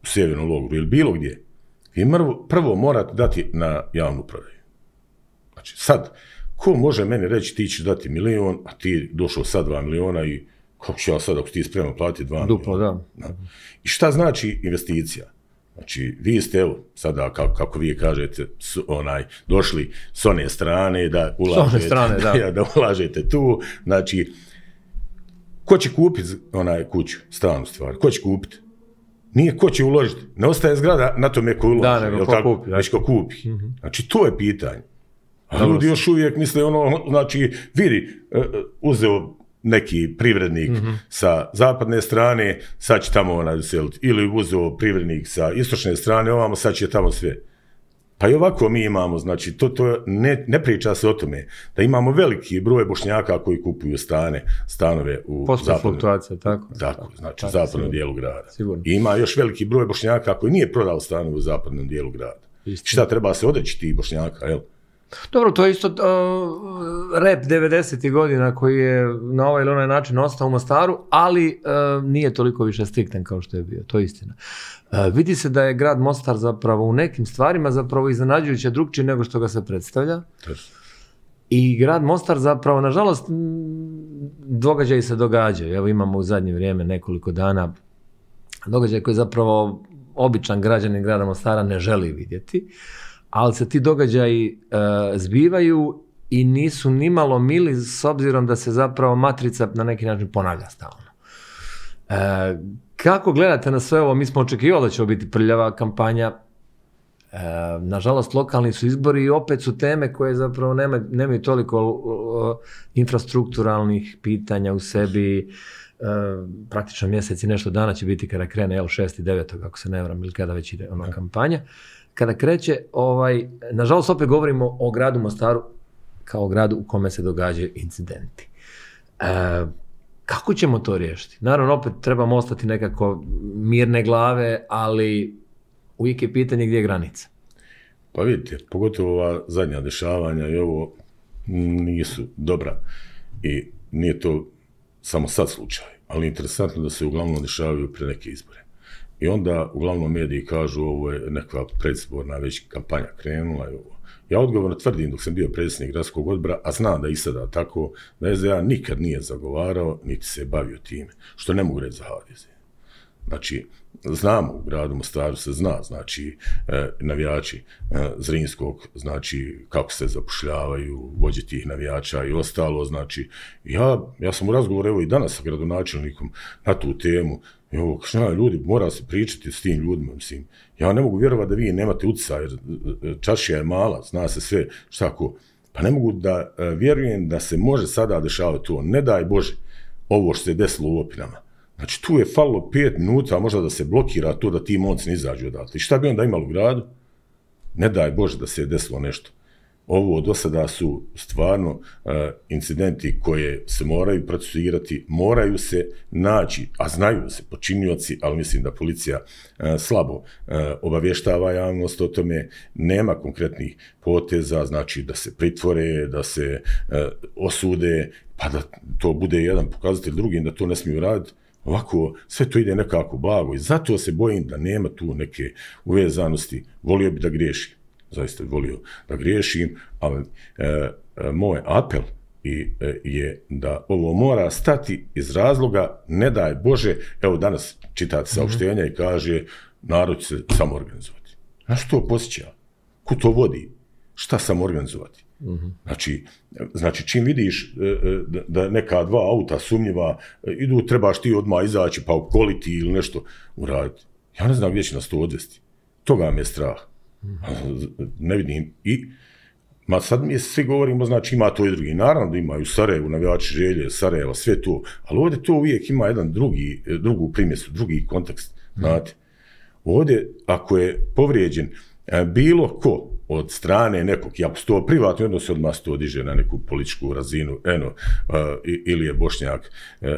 u Sjevernom logoru ili bilo gdje, vi prvo morate dati na javnu prodaju. Znači sad, ko može meni reći ti ćeš dati 1 milion, a ti došao sad 2 miliona i kako ću ja sad ako ti spreman platiti 2 miliona? Duplo, da. I šta znači investicija? Znači, vi ste, evo, sada, kako vi kažete, došli s one strane da ulažete tu, znači, ko će kupiti kuću, stranu stvar? Ko će kupiti? Nije ko će uložiti. Ne ostaje zgrada na tome ko uloži. Da, nego ko kupi. Već ko kupi. Znači, to je pitanje. A ljudi još uvijek misle znači, vidi, uzeo neki privrednik sa zapadne strane, sad će tamo doseliti. Ili uzeo privrednik sa istočne strane, ovamo sad će tamo sve. Pa i ovako mi imamo, znači, ne priča se o tome, da imamo veliki broj Bošnjaka koji kupuju stanove u zapadnom dijelu grada. I ima još veliki broj Bošnjaka koji nije prodao stanove u zapadnom dijelu grada. Šta treba se odreći tih Bošnjaka, jel? Dobro, to je isto rep 90. godina koji je na ovaj ili onaj način ostao u Mostaru, ali nije toliko više striktan kao što je bio, to je istina. Vidi se da je grad Mostar zapravo u nekim stvarima zapravo iznenađujuće drukčiji nego što ga se predstavlja. I grad Mostar zapravo, nažalost, događaji se događaju. Evo imamo u zadnje vrijeme nekoliko dana događaj koji zapravo običan građanin grada Mostara ne želi vidjeti. ali se ti događaji zbivaju i nisu nimalo mili s obzirom da se zapravo matrica na neki način ponavlja stalno. Kako gledate na sve ovo? Mi smo očekivali da će biti prljava kampanja. Nažalost, lokalni su izbori i opet su teme koje zapravo nemaju toliko infrastrukturalnih pitanja u sebi. Praktično mjesec i nešto dana će biti kada krene 6. i 9. ako se ne varam, ili kada već ide ona kampanja. Kada kreće, nažalost opet govorimo o gradu Mostaru kao gradu u kome se događaju incidenti. Kako ćemo to riješiti? Naravno, opet trebamo ostati nekako mirne glave, ali uvijek je pitanje gdje je granica. Pa vidite, pogotovo ova zadnja dešavanja i ovo nisu dobra i nije to samo sad slučaj, ali interesantno da se uglavnom dešavaju pre neke izbore. I onda uglavnom mediji kažu ovo je neka predizborna već kampanja krenula i ovo. Ja odgovorno tvrdim dok sam bio predsjednik gradskog odbora, a znam da i sada tako, da SDA nikad nije zagovarao, niti se bavio time, što ne mogu reći za HDZ. Znači, znamo u gradu Mostaru se zna, znači, navijači Zrinskog, znači, kako se zapošljavaju, vođe tih navijača i ostalo, znači, ja sam u razgovoru, evo i danas sa gradonačelnikom na tu temu, ljudi, mora se pričati s tim ljudima, mislim, ja ne mogu vjerovati da vi nemate utjecaja, jer čaršija je mala, zna se sve, šta ko, pa ne mogu da vjerujem da se može sada dešavati to, ne daj Bože, ovo što se desilo u Opinama. Znači, tu je falilo 5 minuta, možda da se blokira to da ti momci ne izađu odatle. I šta bi onda imali u gradu? Ne daj Bože da se je desilo nešto. Ovo do sada su stvarno incidenti koje se moraju procesuirati, moraju se naći, a znaju se počinioci, ali mislim da policija slabo obavještava javnost o tome, nema konkretnih poteza, znači da se pritvore, da se osude, pa da to bude jedan pokazatelj drugim da to ne smiju raditi. Ovako, sve to ide nekako blago i zato se bojim da nema tu neke uvezanosti. Volio bi da griješim, zaista volio da griješim, ali moj apel je da ovo mora stati iz razloga, ne daj Bože, evo danas čitate saopštenja i kaže narod će se samoorganizovati. Na što to posjeća? Ko to vodi? Šta samoorganizovati? Znači, čim vidiš da neka 2 auta sumnjiva idu, trebaš ti odmah izaći pa opkoliti ili nešto uraditi. Ja ne znam gdje će nas to odvesti. Toga mi je strah. Ne vidim. Sad mi svi govorimo, znači ima to i drugi. Naravno da imaju Sarajevo, navijači Želje, Sarajeva, sve to. Ali ovdje to uvijek ima jedan drugu primjesu, drugi kontekst. Znate, ovdje ako je povrijeđen bilo ko od strane nekog, i ako su to privatni odnosi, odmah se to diže na neku političku razinu, ili je Bošnjak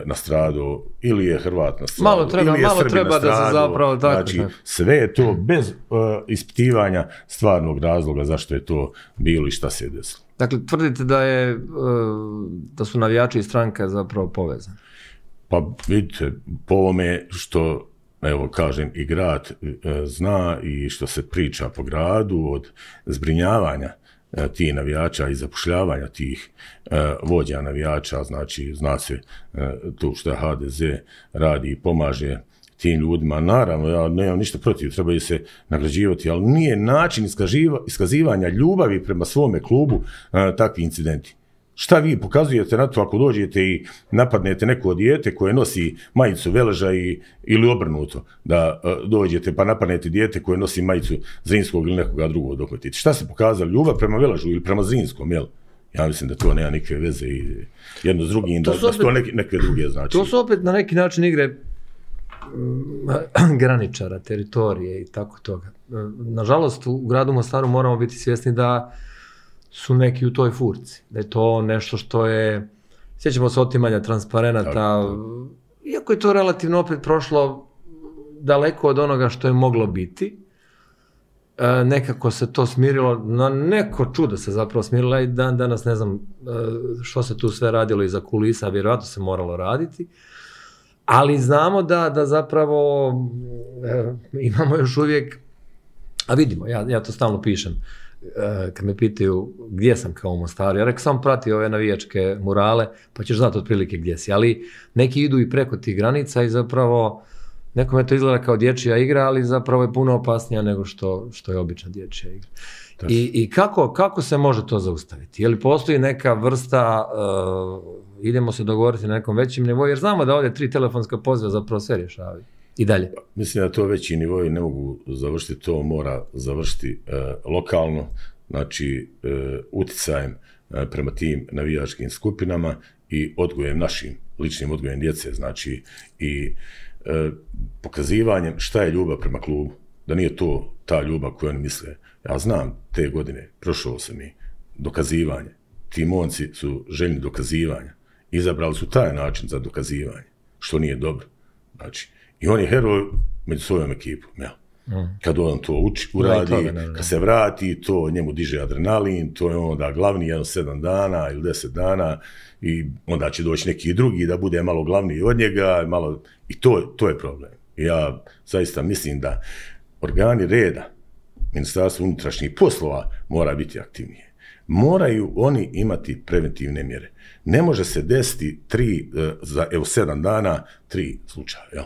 nastradao, ili je Hrvat nastradao, ili je Srbin nastradao, znači sve je to bez ispitivanja stvarnog razloga zašto je to bilo i šta se je desilo. Dakle, tvrdite da su navijači i stranka zapravo povezani? Pa vidite, po ovome što evo kažem i grad zna i što se priča po gradu od zbrinjavanja tih navijača i zapošljavanja tih vođa navijača, znači zna se to što HDZ radi i pomaže tim ljudima. Naravno, ja nemam ništa protiv, trebaju se nagrađivati, ali nije način iskazivanja ljubavi prema svome klubu takvi incidenti. Šta vi pokazujete na to ako dođete i napadnete neko dijete koje nosi majicu Veleža ili obrnuto, da dođete pa napadnete dijete koje nosi majicu Zrinskog ili nekoga drugog dohvatiti? Šta se pokazali? Ljubav prema Veležu ili prema Zrinskom, jel? Ja mislim da to nema nikakve veze i jedno s drugim, da su to neke druge znači. To su opet na neki način igre graničara, teritorije i tako toga. Nažalost, u gradu Mostaru moramo biti svjesni da su neki u toj furci, da je to nešto što je, sjećamo se otimanja transparenata, iako je to relativno opet prošlo daleko od onoga što je moglo biti, nekako se to smirilo, na neko čudo se zapravo smirilo i danas ne znam što se tu sve radilo iza kulisa, vjerojatno se moralo raditi, ali znamo da zapravo imamo još uvijek, a vidimo, ja to stalno pišem, kad me pitaju gdje sam kao u Mostaru, ja rekao sam prati ove navijačke murale, pa ćeš znati otprilike gdje si, ali neki idu i preko tih granica i zapravo Nekome to izgleda kao dječja igra, ali zapravo je puno opasnija nego što je obična dječja igra. I kako se može to zaustaviti? Je li postoji neka vrsta, idemo se dogovoriti na nekom većem nivou, jer znamo da ovdje 3 telefonska poziva zapravo sve rješavaju. I dalje. Mislim da to veći nivoji ne mogu završiti, to mora završiti lokalno, znači uticajem prema tim navijačkim skupinama i odgojem našim, ličnim odgojem djece, znači i pokazivanjem šta je ljubav prema klubu, da nije to ta ljubav koju oni misle. Ja znam, te godine prošao sam i dokazivanje. Ti momci su željni dokazivanja. Izabrali su taj način za dokazivanje, što nije dobro. Znači, i on je heroj među svojom ekipom. Ja. Kad on to uradi, kad se vrati, to njemu diže adrenalin, to je onda glavni 7 dana ili 10 dana i onda će doći neki drugi da bude malo glavniji od njega. I to je problem. I ja zaista mislim da organi reda, Ministarstvo unutrašnjih poslova mora biti aktivnije. Moraju oni imati preventivne mjere. Ne može se desiti 7 dana 3 slučaja. Jel?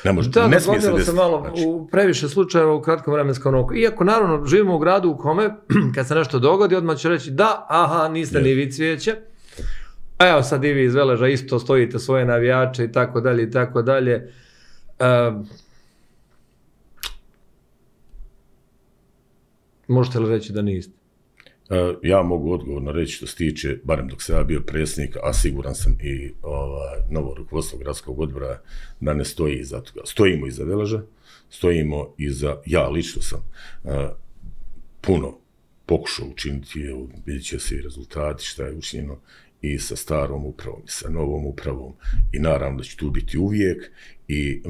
Ne može, ne smije se desiti. Malo znači, u previše slučajeva u kratkom vremenskom roku. Iako naravno živimo u gradu u kome kad se nešto dogodi odmah će reći da, aha, niste ni vi Cvijeće. A evo sad i vi iz Veleža isto stojite svoje navijače i tako dalje i tako dalje. Možete li reći da niste? Ja mogu odgovorno reći što se tiče, barem dok sam ja bio predsjednik, a siguran sam i novo rukovodstvo gradskog odbora da ne stoji iza toga. Stojimo iza Veleža, stojimo iza, ja lično sam puno pokušao učiniti, vidjet će se i rezultati šta je učinjeno i sa starom upravom i sa novom upravom i naravno da će tu biti uvijek i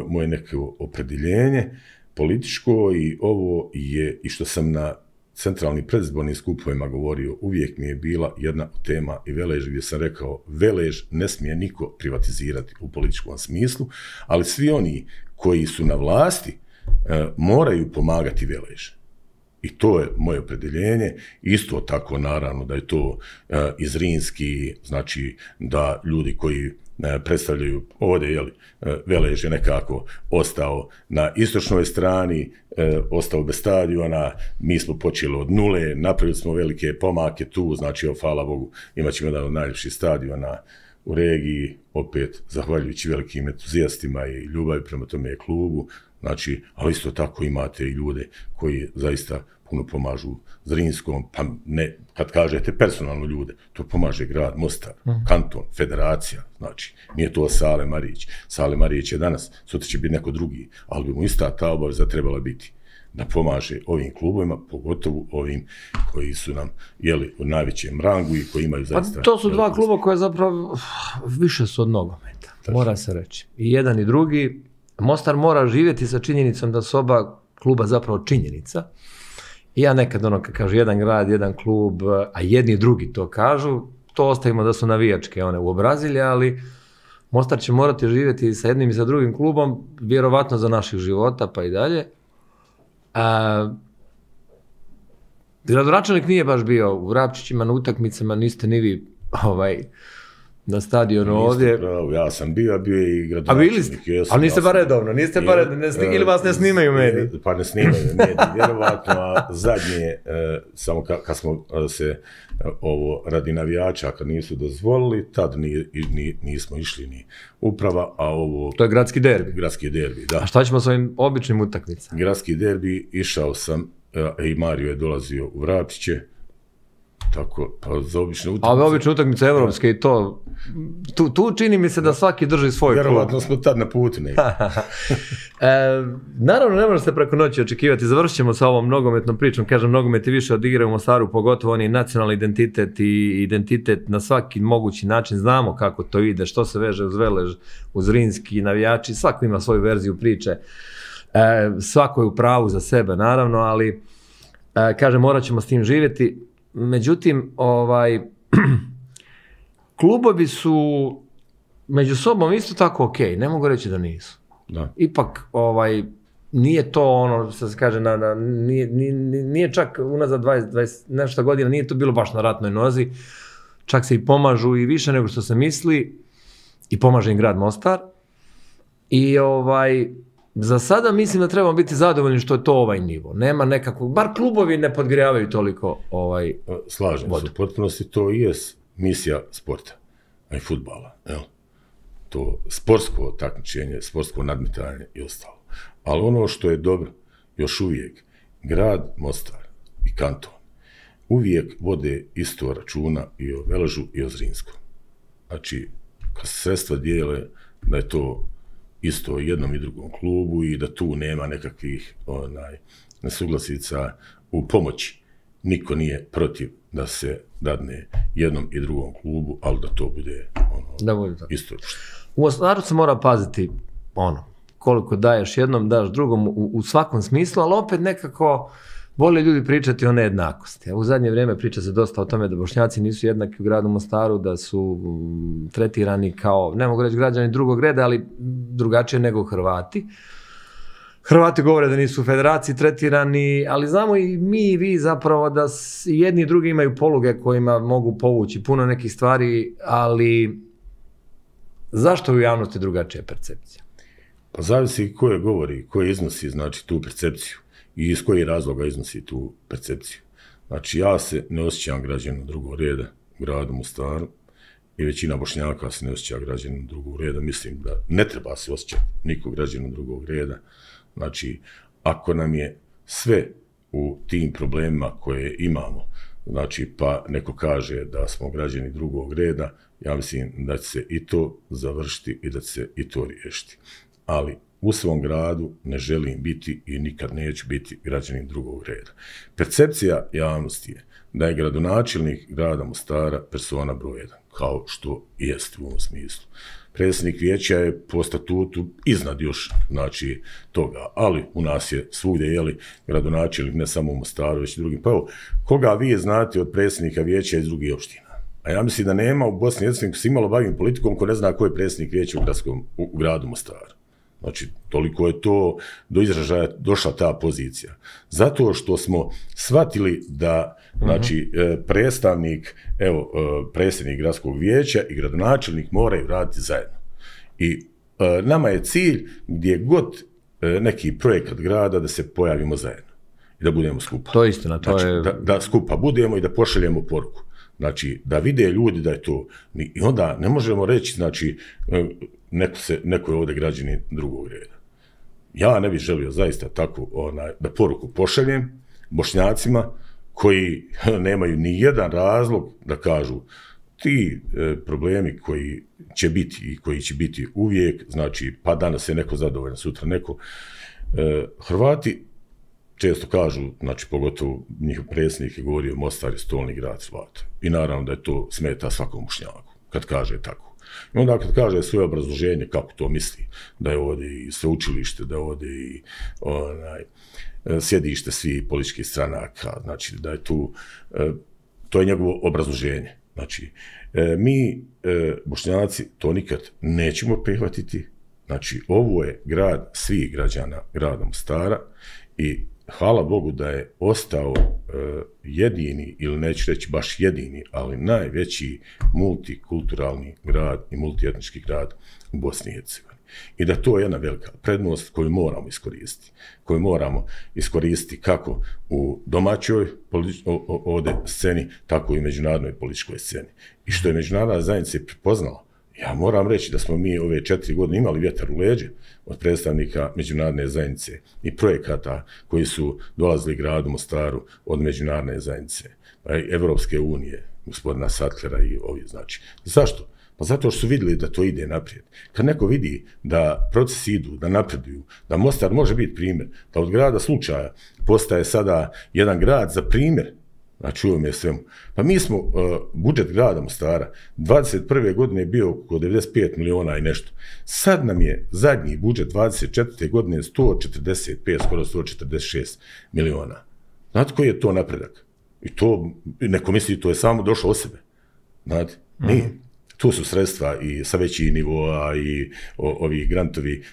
moje neko opredjeljenje političko i ovo je i što sam na centralnim predizbornim skupovima govorio, uvijek mi je bila jedna od tema i Velež gdje sam rekao Velež ne smije niko privatizirati u političkom smislu, ali svi oni koji su na vlasti moraju pomagati Velež. I to je moje opredjeljenje. Isto tako naravno da je to i Zrinski, znači da ljudi koji predstavljaju ovdje, Velež je nekako ostao na istočnoj strani, ostao bez stadiona, mi smo počeli od nule, napravili smo velike pomake tu, znači hvala Bogu imat ćemo jedan od najljepših stadiona u regiji, opet zahvaljujući velikim entuzijastima i ljubavi prema tome klubu, znači, ali isto tako imate i ljude koji zaista puno pomažu Zrinskom, pa ne, kad kažete personalno ljude, to pomaže grad Mostar, kanton, federacija, znači, nije to Sale Marić. Sale Marić je danas, sutra će biti neko drugi, ali bi mu ista ta obaveza trebala biti da pomaže ovim klubovima, pogotovo ovim koji su nam u najvećem rangu i koji imaju zaista... Pa to su dva kluba koje zapravo više su od nogometa, mora se reći. I jedan i drugi. Mostar mora živjeti sa činjenicom da su oba kluba zapravo činjenica. I ja nekad kad kažu jedan grad, jedan klub, a jedni i drugi to kažu, to ostavimo da su navijačke one uobrazilje, ali Mostar će morati živjeti sa jednim i sa drugim klubom, vjerovatno za naših života pa i dalje. Gradonačelnik nije baš bio u Vrapčićima na utakmicama, niste ni vi na stadionu ovdje. Pravo, ja sam bio je i gradonačelnik. Ali niste bar redovno, ili vas ne snimaju mediji? Pa ne snimaju mediji, vjerovatno, a zadnje, samo kad smo se radi navijača, kad nisu dozvolili, tad nismo išli ni uprava, a ovo... To je gradski derbi? Gradski derbi, da. A šta ćemo s ovim običnim utakmicama? Gradski derbi, išao sam, i Mario je dolazio u Vrapčiće, tako, pa za obične utakmice... A obične utakmice evropske i to, tu čini mi se da svaki drži svoj klub. Vjerovatno smo tad na putu nekako. Naravno, ne može se preko noći očekivati, završit ćemo sa ovom nogometnom pričom, kažem, nogomet je više od igre u Mostaru, pogotovo on je nacionalni identitet i identitet na svaki mogući način, znamo kako to ide, što se veže uz Velež, uz Zrinski, navijači, svako ima svoju verziju priče, svako je u pravu za sebe, naravno, ali, kažem, morat ćemo s tim živjeti. Međutim, klubovi su među sobom isto tako ok, ne mogu reći da nisu. Da. Ipak, nije to ono što se kaže, nije čak unazad 20 nešto godina, nije to bilo baš na ratnoj nozi, čak se i pomažu i više nego što se misli i pomaže im grad Mostar. I za sada mislim da trebamo biti zadovoljni što je to ovaj nivo. Nema nekakvog, bar klubovi ne podgrijavaju toliko Slažem se, u potpunosti to i je misija sporta, a i fudbala. To sportsko takmičenje, sportsko nadmetanje i ostalo. Ali ono što je dobro, još uvijek, grad Mostar i kanton uvijek vode isto računa i o Veležu i o Zrinskom. Znači, kad se sredstva dijele, da je to isto jednom i drugom klubu i da tu nema nekakvih nesuglasica u pomoći. Niko nije protiv da se dadne jednom i drugom klubu, ali da to bude isto. U Mostaru se mora paziti koliko daješ jednom, daš drugom u svakom smislu, ali opet nekako vole ljudi pričati o nejednakosti. U zadnje vrijeme priča se dosta o tome da Bošnjaci nisu jednaki u gradu Mostaru, da su tretirani kao, ne mogu reći građani drugog reda, ali drugačije nego Hrvati. Hrvati govore da nisu u federaciji tretirani, ali znamo i mi i vi zapravo da jedni i drugi imaju poluge kojima mogu povući puno nekih stvari, ali zašto je u javnosti drugačija percepcija? Pa zavisi ko je govori, ko je iznosi tu percepciju i iz kojih razloga iznosi tu percepciju. Znači, ja se ne osjećam građanin drugog reda u gradu Mostaru i većina Bošnjaka se ne osjeća građanin drugog reda. Mislim da ne treba se osjećati niko građanin drugog reda. Znači, ako nam je sve u tim problemima koje imamo, znači, pa neko kaže da smo građani drugog reda, ja mislim da će se i to završiti i da će se i to riješiti. Ali u svom gradu ne želim biti i nikad neću biti građanin drugog reda. Percepcija javnosti je da je gradonačelnik grada Mostara persona broj 1, kao što i jest u ovom smislu. Predsjednik vijeća je po statutu iznad još, znači, toga, ali u nas je svugdje, gradonačelnik ne samo u Mostaru, već i drugim. Pa evo, koga vi znate od predsjednika vijeća iz drugih opština? A ja mislim da nema u Bosni i Hercegovini, ko se imalo bavim politikom, ko ne zna ko je predsjednik vijeća u gradu Mostaru. Znači, toliko je to do izražaja došla ta pozicija. Zato što smo shvatili da, znači, predsjednik gradskog vijeća i gradonačelnik moraju raditi zajedno. I nama je cilj gdje god neki projekat grada da se pojavimo zajedno i da budemo skupa. To je istina. Da skupa budemo i da pošaljemo poruku. Znači, da vide ljudi da je to. I onda ne možemo reći, znači, neko je ovdje građanin drugog reda. Ja ne bih želio zaista tako da poruku pošaljem Bošnjacima koji nemaju ni jedan razlog da kažu ti problemi koji će biti i koji će biti uvijek, znači, pa danas je neko zadovoljan, sutra neko. Hrvati često kažu, znači, pogotovo njihov predsjednik je govorio Mostar je stolni grad Hrvata. I naravno da je to smeta svakom Bošnjaku kad kaže tako. I onda kad kaže svoje obrazloženje kako to misli, da je ovdje i sveučilište, da je ovdje i sjedište svih političkih stranaka, znači da je tu, to je njegovo obrazloženje. Znači, mi Bošnjaci to nikad nećemo prihvatiti, znači ovo je grad svih građana grada Mostara i hvala Bogu da je ostao jedini, ili neću reći baš jedini, ali najveći multikulturalni grad i multietnički grad u Bosni i Hercegovini. I da to je jedna velika prednost koju moramo iskoristiti kako u domaćoj ovdje sceni, tako i međunarodnoj političkoj sceni. I što je međunarodna zajednica prepoznala, ja moram reći da smo mi ove 4 godine imali vjetar u leđe od predstavnika međunarodne zajednice i projekata koji su dolazili gradu Mostaru od međunarodne zajednice, Evropske unije, gospodina Sattlera i ovi, znači. Zašto? Pa zato što su vidjeli da to ide naprijed. Kad neko vidi da procesi idu, da napreduju, da Mostar može biti primjer, da od grada slučaja postaje sada jedan grad za primjer, znači u ovom je svemu. Pa mi smo, budžet grada Mostara 21. godine je bio oko 95 miliona i nešto. Sad nam je zadnji budžet 24. godine 145, skoro 146 miliona. Znate koji je to napredak? I to, neko misli, to je samo došlo od sebe. Znate, nije. Tu su sredstva i sa većih nivoa i ovi grantovi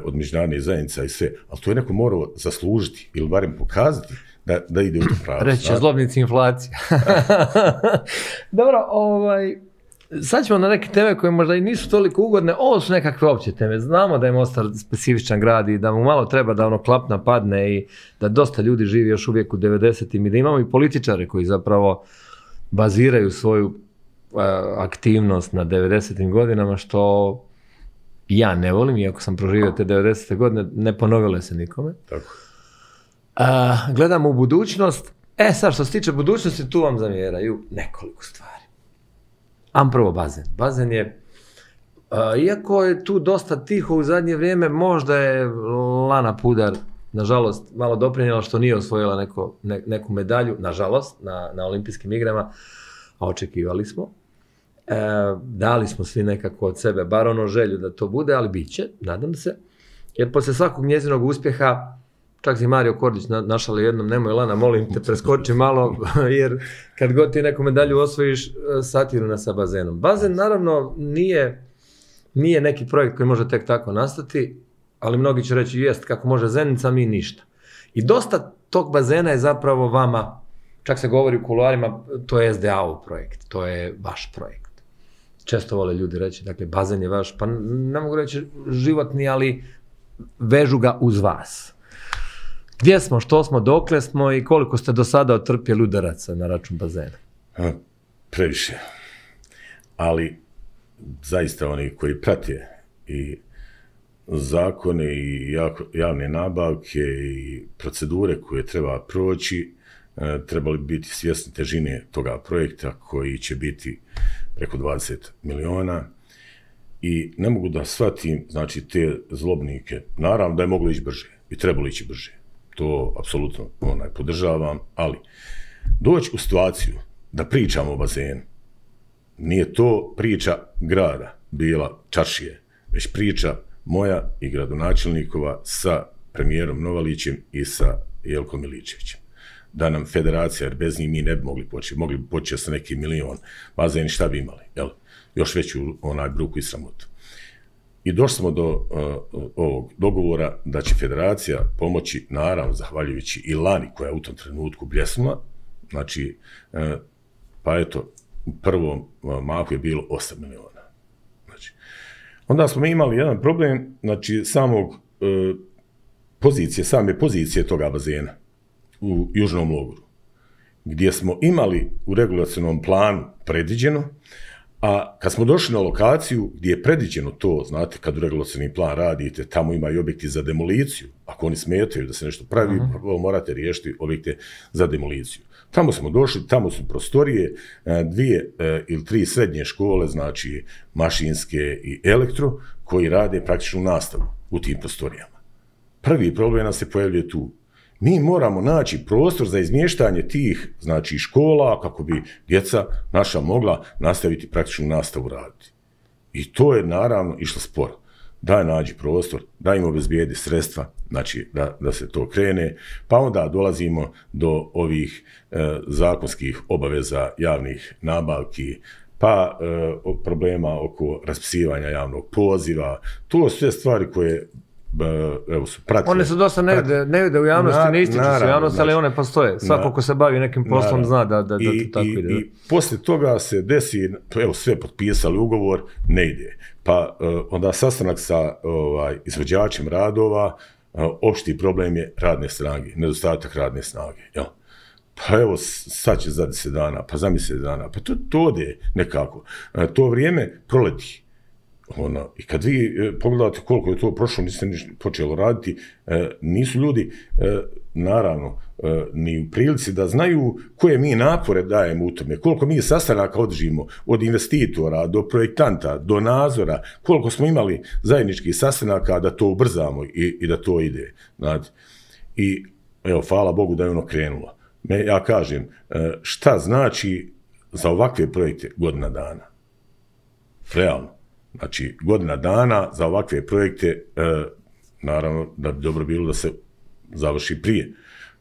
od međunarodnih zajednica i sve, ali to je neko morao zaslužiti ili barem pokazati da ide u to pravo. Reći će zlobnici inflacija. Dobro, sad ćemo na neke teme koje možda i nisu toliko ugodne, ovo su nekakve opće teme. Znamo da je Mostar specifičan grad i da mu malo treba da ono klapna padne i da dosta ljudi živi još uvijek u 90-im i da imamo i političare koji zapravo baziraju svoju aktivnost na 90-im godinama, što ja ne volim, iako sam proživio te 90-te godine, ne ponovile se nikome. Tako. Gledamo u budućnost. Sad što se tiče budućnosti, tu vam zamjeraju nekoliko stvari. Prvo bazen. Bazen je, iako je tu dosta tiho u zadnje vrijeme, možda je Lana Pudar, nažalost, malo doprinijela što nije osvojila neku medalju, nažalost, na olimpijskim igrama, a očekivali smo. Dali smo svi nekako od sebe, bar ono želju da to bude, ali bit će, nadam se. Jer poslije svakog njezinog uspjeha, čak si Mario Kordić našali jednom, nemoj Lana, molim te, preskoči malo, jer kad god ti neku medalju osvojiš, satiru nas sa bazenom. Bazen, naravno, nije neki projekt koji može tek tako nastati, ali mnogi će reći, jest, kako može Zenica, mi ništa. I dosta tog bazena je zapravo vama, čak se govori u kuloarima, to je SDA-ov projekt, to je vaš projekt. Često vole ljudi reći, dakle, bazen je vaš, pa ne mogu reći životni, ali vežu ga uz vas. Gdje smo, što smo, dokle smo i koliko ste do sada otrpjeli udaraca na račun bazena? Previše. Ali zaista oni koji prate i zakone i javne nabavke i procedure koje treba proći, trebali biti svjesni težine toga projekta koji će biti preko 20 miliona. I ne mogu da shvatim, znači, te zlobnike. Naravno da je moglo ići brže i trebalo ići brže. To apsolutno podržavam, ali doći u situaciju da pričamo o bazenu, nije to priča grada bila Čaršije, već priča moja i gradonačelnikova sa premijerom Novalićem i sa Jelkom Miličevićem. Da nam federacija, jer bez njih mi ne bi mogli početi sa neki milion bazeni, šta bi imali, jel? Još veću bruku i sramotu. I došli smo do ovog dogovora da će federacija pomoći, naravno, zahvaljujući i Lani, koja je u tom trenutku bljesnula. Znači, pa eto, u prvom mahu je bilo 8 miliona. Znači, onda smo imali jedan problem, znači, same pozicije toga bazena u Južnom logoru, gdje smo imali u regulacionom planu predviđeno, a kad smo došli na lokaciju gdje je predviđeno to, znate, kad u regulacioni plan radite, tamo ima i objekti za demoliciju. Ako oni smetaju da se nešto pravi, morate riješiti objekte za demoliciju. Tamo smo došli, tamo su prostorije, 2 ili 3 srednje škole, znači mašinske i elektro, koji rade praktičnu nastavu u tim prostorijama. Prvi problem nas se pojavljuje tu. Mi moramo naći prostor za izmještanje tih, znači, škola, kako bi djeca naša mogla nastaviti praktičnu nastavu raditi. I to je, naravno, išlo sporo. Daj nađi prostor, daj im obezbijedi sredstva, znači, da se to krene, pa onda dolazimo do ovih zakonskih obaveza javnih nabavki, pa problema oko raspisivanja javnog poziva. To su sve stvari koje su pratile. One su dosta ne vide u javnosti, ne ističu se u javnosti, ali one postoje. Svako ko se bavi nekim poslom zna da to tako ide. I poslije toga se desi, sve potpisali ugovor, ne ide. Pa onda sastanak sa izvođačem radova, opšti problem je radne snage, nedostatak radne snage. Jel? Pa evo, sad će za 10 dana, pa za mjesec dana, pa to ode nekako. To vrijeme proleti. I kad vi pogledate koliko je to prošlo, niste ništa počelo raditi, nisu ljudi, naravno, ni u prilici da znaju koje mi napore dajemo u tome, koliko mi sastanaka održimo od investitora do projektanta, do nadzora, koliko smo imali zajedničkih sastanaka da to ubrzamo i da to ide. Znate. I evo, hvala Bogu da je ono krenulo. Ja kažem, šta znači za ovakve projekte godina dana? Realno. Znači, godina dana za ovakve projekte, naravno da bi dobro bilo da se završi prije.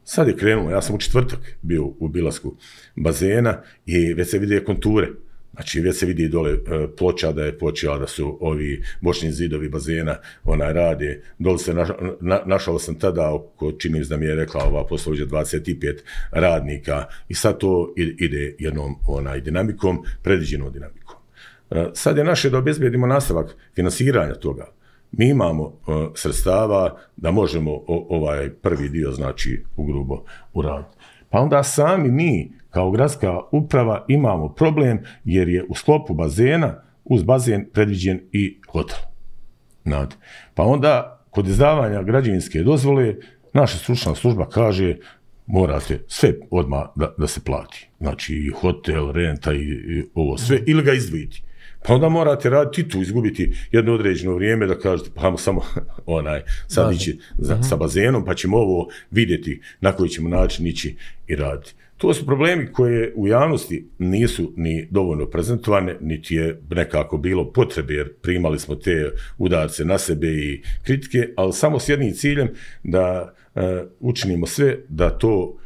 Sad je krenulo, ja sam u četvrtak bio u obilasku bazena i već se vide konture. Znači, već se vidi dole ploča da je počela, da su ovi bočni zidovi bazena rade. Dole se našao sam tada, čini mi se da mi je rekla ova poslovođa, 25 radnika i sad to ide jednom dinamikom, predviđenom dinamikom. Sad je naše da obezbedimo nastavak finansiranja toga. Mi imamo sredstava da možemo ovaj prvi dio, znači, ugrubo uraditi. Pa onda sami mi, kao gradska uprava, imamo problem jer je u sklopu bazena, uz bazen predviđen i hotel. Znate. Pa onda, kod izdavanja građevinske dozvole, naša stručna služba kaže morate sve odmah da se plati. Znači, i hotel, renta i ovo sve, ili ga izdvojiti. Pa onda morate raditi tu, izgubiti jedno određeno vrijeme da kažete, pa samo sad ići sa bazenom, pa ćemo ovo vidjeti na koji ćemo način ići i raditi. To su problemi koje u javnosti nisu ni dovoljno prezentovane, niti je nekako bilo potrebe, jer primali smo te udarce na sebe i kritike, ali samo s jednim ciljem da učinimo sve da to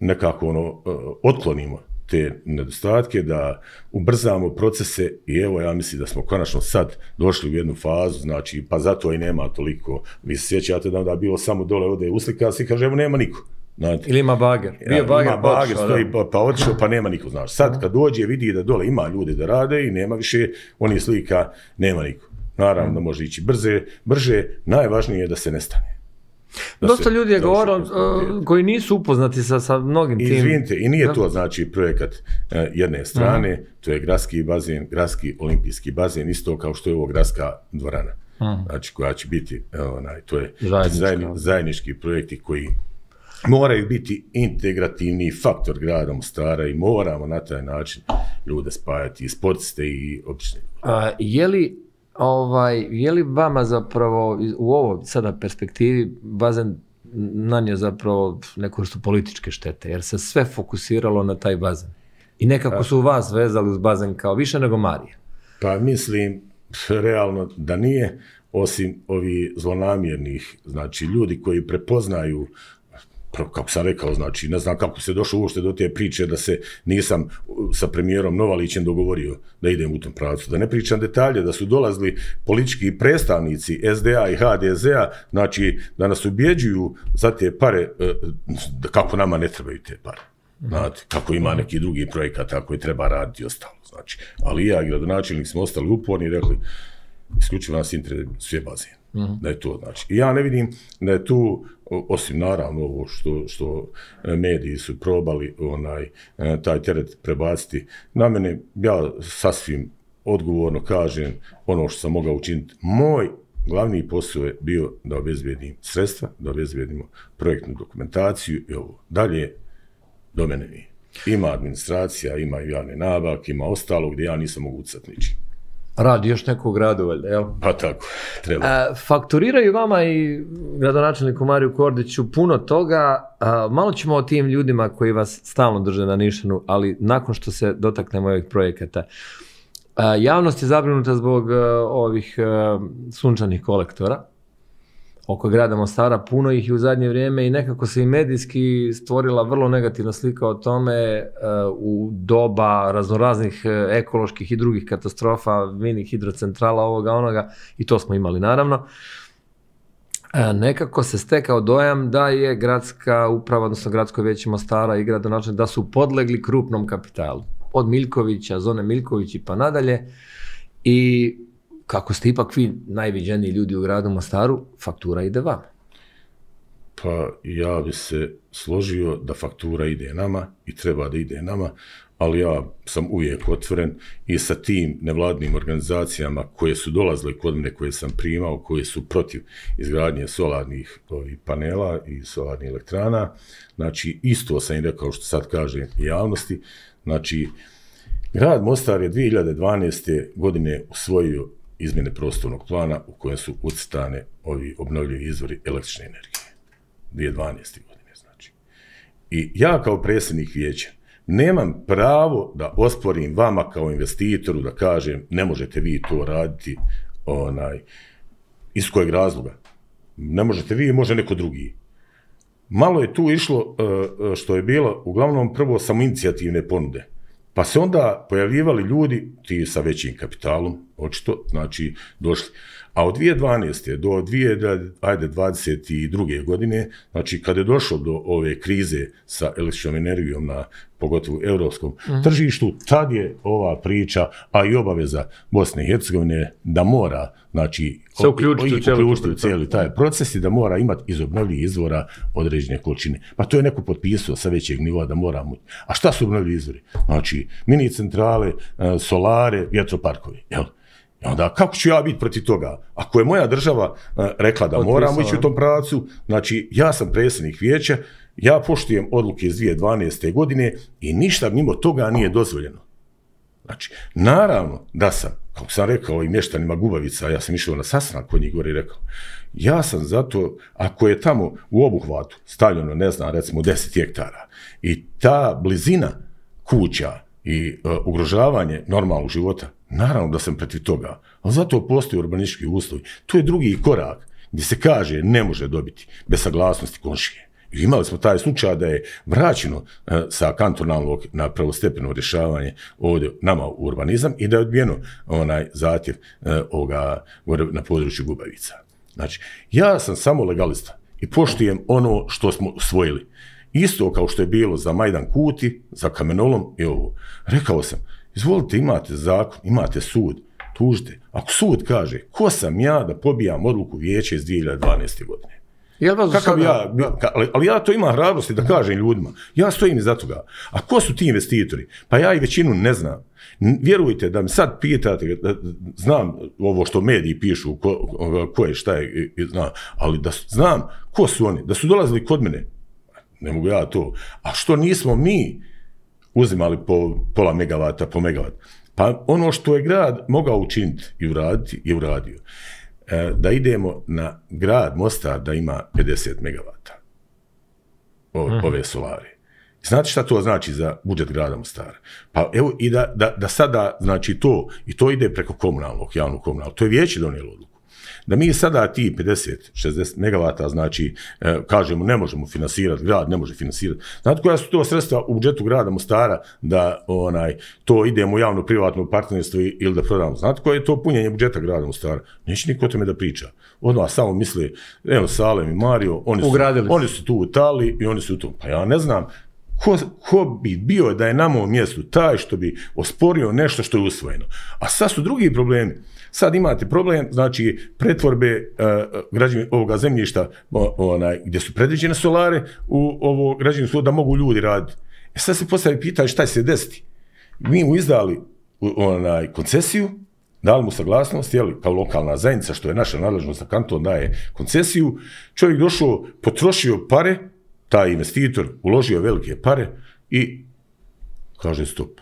nekako otklonimo te nedostatke, da ubrzamo procese i evo ja mislim da smo konačno sad došli u jednu fazu, znači pa zato i nema toliko, vi se sjećate da onda bilo samo dole ode uslika se i kaže evo nema niko. Znate. Ili ima bager. Bio bager, ima bager, stoji pa otišao pa nema niko, znaš. Sad kad dođe vidi da dole ima ljudi da rade i nema više onih slika, nema niko. Naravno da može ići brže, najvažnije je da se nestane. Dosta ljudi je govorilo koji nisu upoznati sa mnogim tim. Izvinite, i nije to znači projekat jedne strane, to je gradski bazen, gradski olimpijski bazen, isto kao što je ovo gradska dvorana. Znači koja će biti, to je zajednički projekti koji moraju biti integrativni faktor grada Mostara i moramo na taj način ljude spajati, i sportiste i obične. Je li vama zapravo u ovoj sada perspektivi bazen nanio zapravo neku vrstu političke štete, jer se sve fokusiralo na taj bazen i nekako su vas vezali uz bazen kao više nego Marije? Pa mislim realno da nije, osim ovih zlonamjernih, znači ljudi koji prepoznaju, kako sam rekao, znači ne znam kako se došlo uopšte do te priče da se nisam sa premijerom Novalićem dogovorio da idem u tom pravcu. Da ne pričam detalje, da su dolazili politički predstavnici SDA i HDZ-a, znači da nas ubjeđuju za te pare, kako nama ne trebaju te pare. Znate, kako ima neki drugi projekata koji treba raditi i ostalo. Znači, ali ja i gradonačelnik smo ostali uporni i rekli, isključivo nas interesuje sve bazen. Da je to, znači. I ja ne vidim da je tu, osim naravno ovo što mediji su probali taj teret prebaciti na mene, ja sasvim odgovorno kažem ono što sam mogao učiniti. Moj glavni posao je bio da obezbedim sredstva, da obezbedimo projektnu dokumentaciju i ovo. Dalje do mene nije. Ima administracija, ima javne nabavke, ima ostalo gdje ja nisam mogu ucati ničim. Radi još nekog gradu, valjda, jel? Pa tako, treba. Fakturiraju vama i gradonačelniku Mariju Kordiću puno toga. Malo ćemo o tim ljudima koji vas stalno drže na nišanu, ali nakon što se dotaknemo ovih projekata. Javnost je zabrinuta zbog ovih sunčanih kolektora oko grada Mostara, puno ih je u zadnje vrijeme i nekako se i medijski stvorila vrlo negativna slika o tome u doba raznoraznih ekoloških i drugih katastrofa, mini hidrocentrala, ovoga, onoga, i to smo imali naravno. Nekako se stekao dojam da je gradska uprava, odnosno gradsko vijeće Mostara i gradonačelnik da su podlegli krupnom kapitalu. Od Miljkovića, zone Miljković i pa nadalje. I kako ste ipak vi najviđeniji ljudi u gradu Mostaru, faktura ide vama. Pa ja bi se složio da faktura ide nama i treba da ide nama, ali ja sam uvijek otvoren i sa tim nevladnim organizacijama koje su dolazile kod mene, koje sam primao, koje su protiv izgradnje solarnih panela i solarnih elektrana. Znači, isto sam im rekao što sad kažem javnosti. Znači, grad Mostar je 2012. godine usvojio izmjene prostornog plana u kojem su ucrtane ovi obnovljivi izvori električne energije. 2012. godine, znači. I ja kao predsjednik vijeća nemam pravo da osporim vama kao investitoru da kažem ne možete vi to raditi iz kojeg razloga. Ne možete vi, može neko drugi. Malo je tu išlo što je bilo uglavnom prvo samoinicijativne ponude. Pa se onda pojavljivali ljudi, ti sa većim kapitalom, očito, znači, došli. A od 2012. do 2022. godine, znači, kada je došlo do ove krize sa električnom energijom na pogotovo europskom tržištu, tad je ova priča, a i obaveza Bosne i Hercegovine da mora, znači, se uključiti u cijeli taj proces i da mora imati iz obnovljivih izvora određene količine. Pa to je neko potpisao sa većeg nivoa da moramo. A šta su obnovljivi izvori? Znači, mini centrale, solare, vjetroparkovi, jel? I onda, kako ću ja biti protiv toga? Ako je moja država rekla da moramo ići u tom pravcu, znači, ja sam predsjednik vijeća, ja poštujem odluke iz 2012. godine i ništa mimo toga nije dozvoljeno. Znači, naravno da sam, kako sam rekao i mještanima Gubavica, ja sam išao na sastanak kod njih gore i rekao, ja sam zato, ako je tamo u obuhvatu stavljeno, ne znam, recimo 10 hektara i ta blizina kuća i ugrožavanje normalnog života, naravno da sam protiv toga, ali zato postoji urbanistički uslovi. To je drugi korak gdje se kaže ne može dobiti bez saglasnosti komšije. I imali smo taj slučaj da je vraćeno sa kantonalnog na prvostepeno rješavanje ovdje nama u urbanizam i da je odbijeno onaj zahtjev na području Gubavica. Znači, ja sam samo legalista i poštujem ono što smo usvojili. Isto kao što je bilo za Majdan Kuti, za kamenolom i ovo. Rekao sam, izvolite, imate zakon, imate sud, tužite. Ako sud kaže, ko sam ja da pobijam odluku vijeća iz 2012. godine? Ali ja to imam hrabrosti da kažem ljudima. Ja stojim iza toga. A ko su ti investitori? Pa ja i većinu ne znam. Vjerujte da mi sad pitate, da znam ovo što mediji pišu, ko je, šta je, znam, ali da znam ko su oni, da su dolazili kod mene, ne mogu ja to. A što nismo mi uzimali po pola megavata, po megavat? Pa ono što je grad mogao učiniti i uraditi, je uradio. Da idemo na grad Mostar da ima 50 megavata ove solare. Znate šta to znači za budžet grada Mostara? Pa evo i da sada, znači to, i to ide preko komunalnog, javnog komunalnog, to je vijeće donijelo odluku. Da mi sada ti 50-60 megavata, znači, kažemo ne možemo finansirati, grad ne može finansirati. Znate koja su to sredstva u budžetu grada Mostara da to idemo u javno-privatno partnerstvo ili da prodamo? Znate koje je to punjenje budžeta grada Mostara? Neće niko o tome da priča. Odmah samo misli, evo Salem i Mario, oni su tu u Italiji i oni su tu. Pa ja ne znam ko bi bio da je na mom mjestu taj što bi osporio nešto što je usvojeno. A sad su drugi problemi. Sad imate problem, znači, pretvorbe ovoga zemljišta gdje su predviđene solare u ovo građevinsko da mogu ljudi raditi. Sad se postavi pitanje šta će se desiti. Mi mu izdali koncesiju, dali mu saglasnost, kao lokalna zajednica, što je naša nadležnost da kanton daje koncesiju, čovjek došao, potrošio pare, taj investitor uložio velike pare i kaže stop,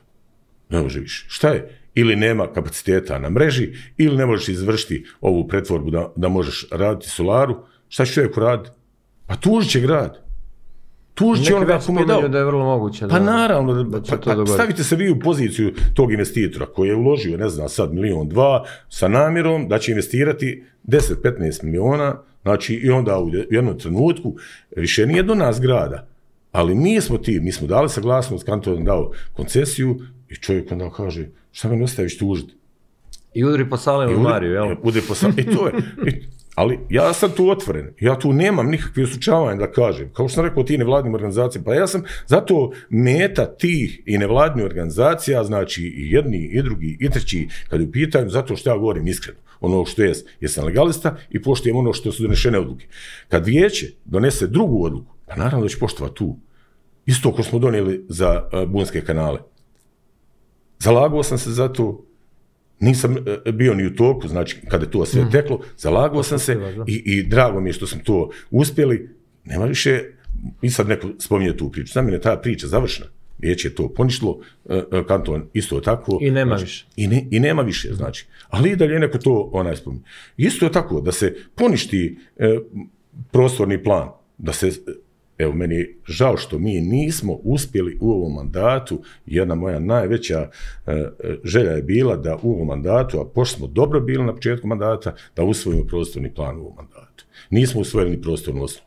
ne može više. Šta je? Ili nema kapaciteta na mreži, ili ne možeš izvršiti ovu pretvorbu da možeš raditi solaru. Šta će čovjek raditi? Pa tužit će grad. Tužit će onoga kom je dao. Da je vrlo moguće. Pa naravno, stavite se vi u poziciju tog investitora koji je uložio, ne znam, sad 1-2 miliona sa namjerom da će investirati 10-15 miliona, znači i onda u jednom trenutku više nije do nas grada. Ali mi smo dali saglasnost, kanton dao koncesiju i čovjek onda kaže, šta me ne ostaviš tužiti? I udri po Salemu i Mariju, jel? Udri po Salemu, i to je. Ali ja sam tu otvoren, ja tu nemam nikakve osučavanja da kažem. Kao što sam rekao, ti nevladnim organizacijama, pa ja sam zato meta tih i nevladnih organizacija, znači i jedni, i drugi, i treći, kad je u pitanju, zato što ja govorim iskreno. Ono što jesam legalista i poštujem ono što su donešene odluke. Kad vijeće donese drugu odluku, pa naravno da će poštovati tu. Isto ko smo donijeli za Bunske kanale. Zalagao sam se za to, nisam bio ni u toku, znači kada je to sve teklo, zalagao sam se i drago mi je što smo to uspjeli. Nema više, i sad neko spominje tu priču, za mene je ta priča završena. Vijeće je to poništilo, kanton isto tako. I nema više. I nema više, znači. Ali i dalje neko to spominje. Isto je tako, da se poništi prostorni plan, da se, evo, meni je žao što mi nismo uspjeli u ovom mandatu, jedna moja najveća želja je bila da u ovom mandatu, a pošto smo dobro bili na početku mandata, da usvojimo prostorni plan u ovom mandatu. Nismo usvojili ni prostornu osnovu.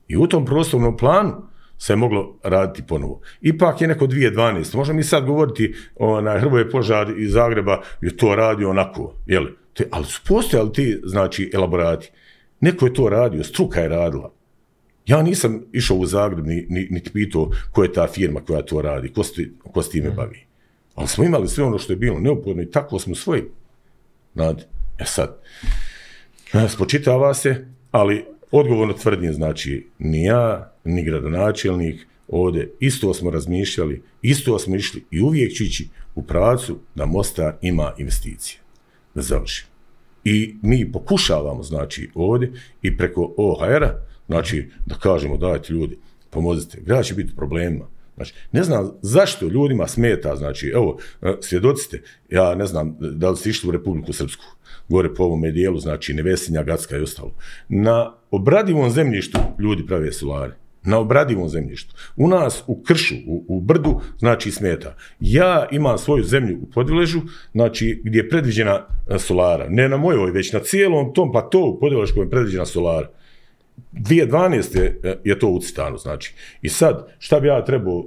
I u tom prostornom planu se je moglo raditi ponovo. Ipak je neko 2012. Možemo mi sad govoriti Hrvoje Požar iz Zagreba je to radio onako, jel? Ali su postojali ti, znači, elaborati. Neko je to radio, struka je radila. Ja nisam išao u Zagreb niti pitao ko je ta firma koja to radi, ko s time bavi. Ali smo imali sve ono što je bilo neophodno i tako smo svoji. Sad, spočitava se, ali odgovorno tvrdim, znači, ni ja, ni gradonačelnik, ovdje isto smo razmišljali, isto smo išli i uvijek ću ići u pravcu da Mostar ima investicije. Da završi. I mi pokušavamo, znači, ovdje i preko OHR-a, znači, da kažemo, dajte ljudi, pomozite, grad će biti problemima. Znači, ne znam zašto ljudima smeta, znači, evo, svjedoci ste, ja ne znam da li ste išli u Republiku Srpsku, gore po ovome dijelu, znači, Nevesinja, Gacka i ostalo. Na obradivom zemljištu ljudi prave solare. Na obradivom zemljištu. U nas, u kršu, u brdu, znači, smeta. Ja imam svoju zemlju u Podviležu, znači, gdje je predviđena solara. Ne na mojoj, već na cijelom tom platovu Podviležkom je predviđena solara. 2012. je to ucrtano, znači. I sad, šta bi ja trebao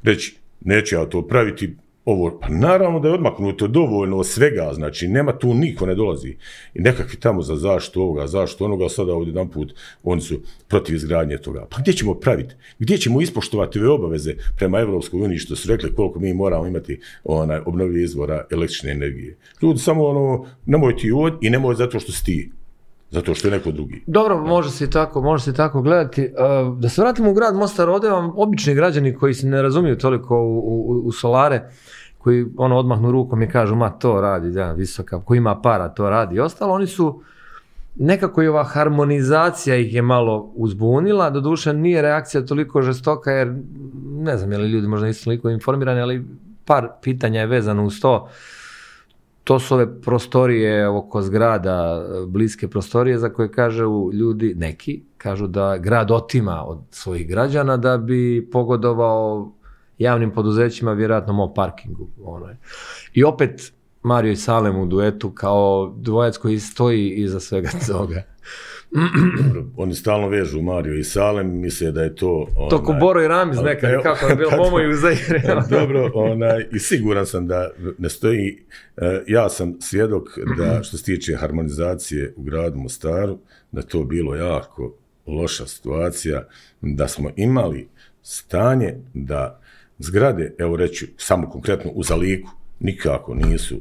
reći, neću ja to praviti, ovo, pa naravno da je odmaknuto dovoljno od svega, znači, nema tu niko ne dolazi. I nekakvi tamo za zaštitu ovoga, zaštitu onoga, sada ovdje jedan put, oni su protiv izgradnje toga. Pa gdje ćemo praviti? Gdje ćemo ispoštovati ove obaveze prema Evropskoj uniji, što su rekli koliko mi moramo imati obnovljive izvora električne energije? Ljudi samo nemoj ti i nemoj zato što si ti. Zato što je neko drugi. Dobro, može se tako gledati. Da se vratimo u grad Mostar, ovdje vam obični građani koji se ne razumiju toliko u solare, koji odmahnu rukom i kažu, ma to radi, visoka, ko ima para to radi i ostalo, oni su, nekako i ova harmonizacija ih je malo uzbunila, doduše nije reakcija toliko žestoka, jer ne znam je li ljudi možda nisu toliko informirani, ali par pitanja je vezano uz to. To su ove prostorije oko zgrada, bliske prostorije za koje kažu ljudi, neki, kažu da grad otima od svojih građana da bi pogodovao javnim poduzećima, vjerojatno MOL parkingu. I opet Mario i Salem u duetu kao dvojac koji stoji iza svega toga. Dobro, oni stalno vežu Mario i Salem, misle da je to... To ko Boro i Ramiz nekad, kako je bilo Momo i Uzair. Dobro, i siguran sam da ne stoji, ja sam svjedok da što se tiče harmonizacije u gradu Mostaru, da je to bilo jako loša situacija, da smo imali stanje da zgrade, evo reću samo konkretno u Zaliku, nikako nisu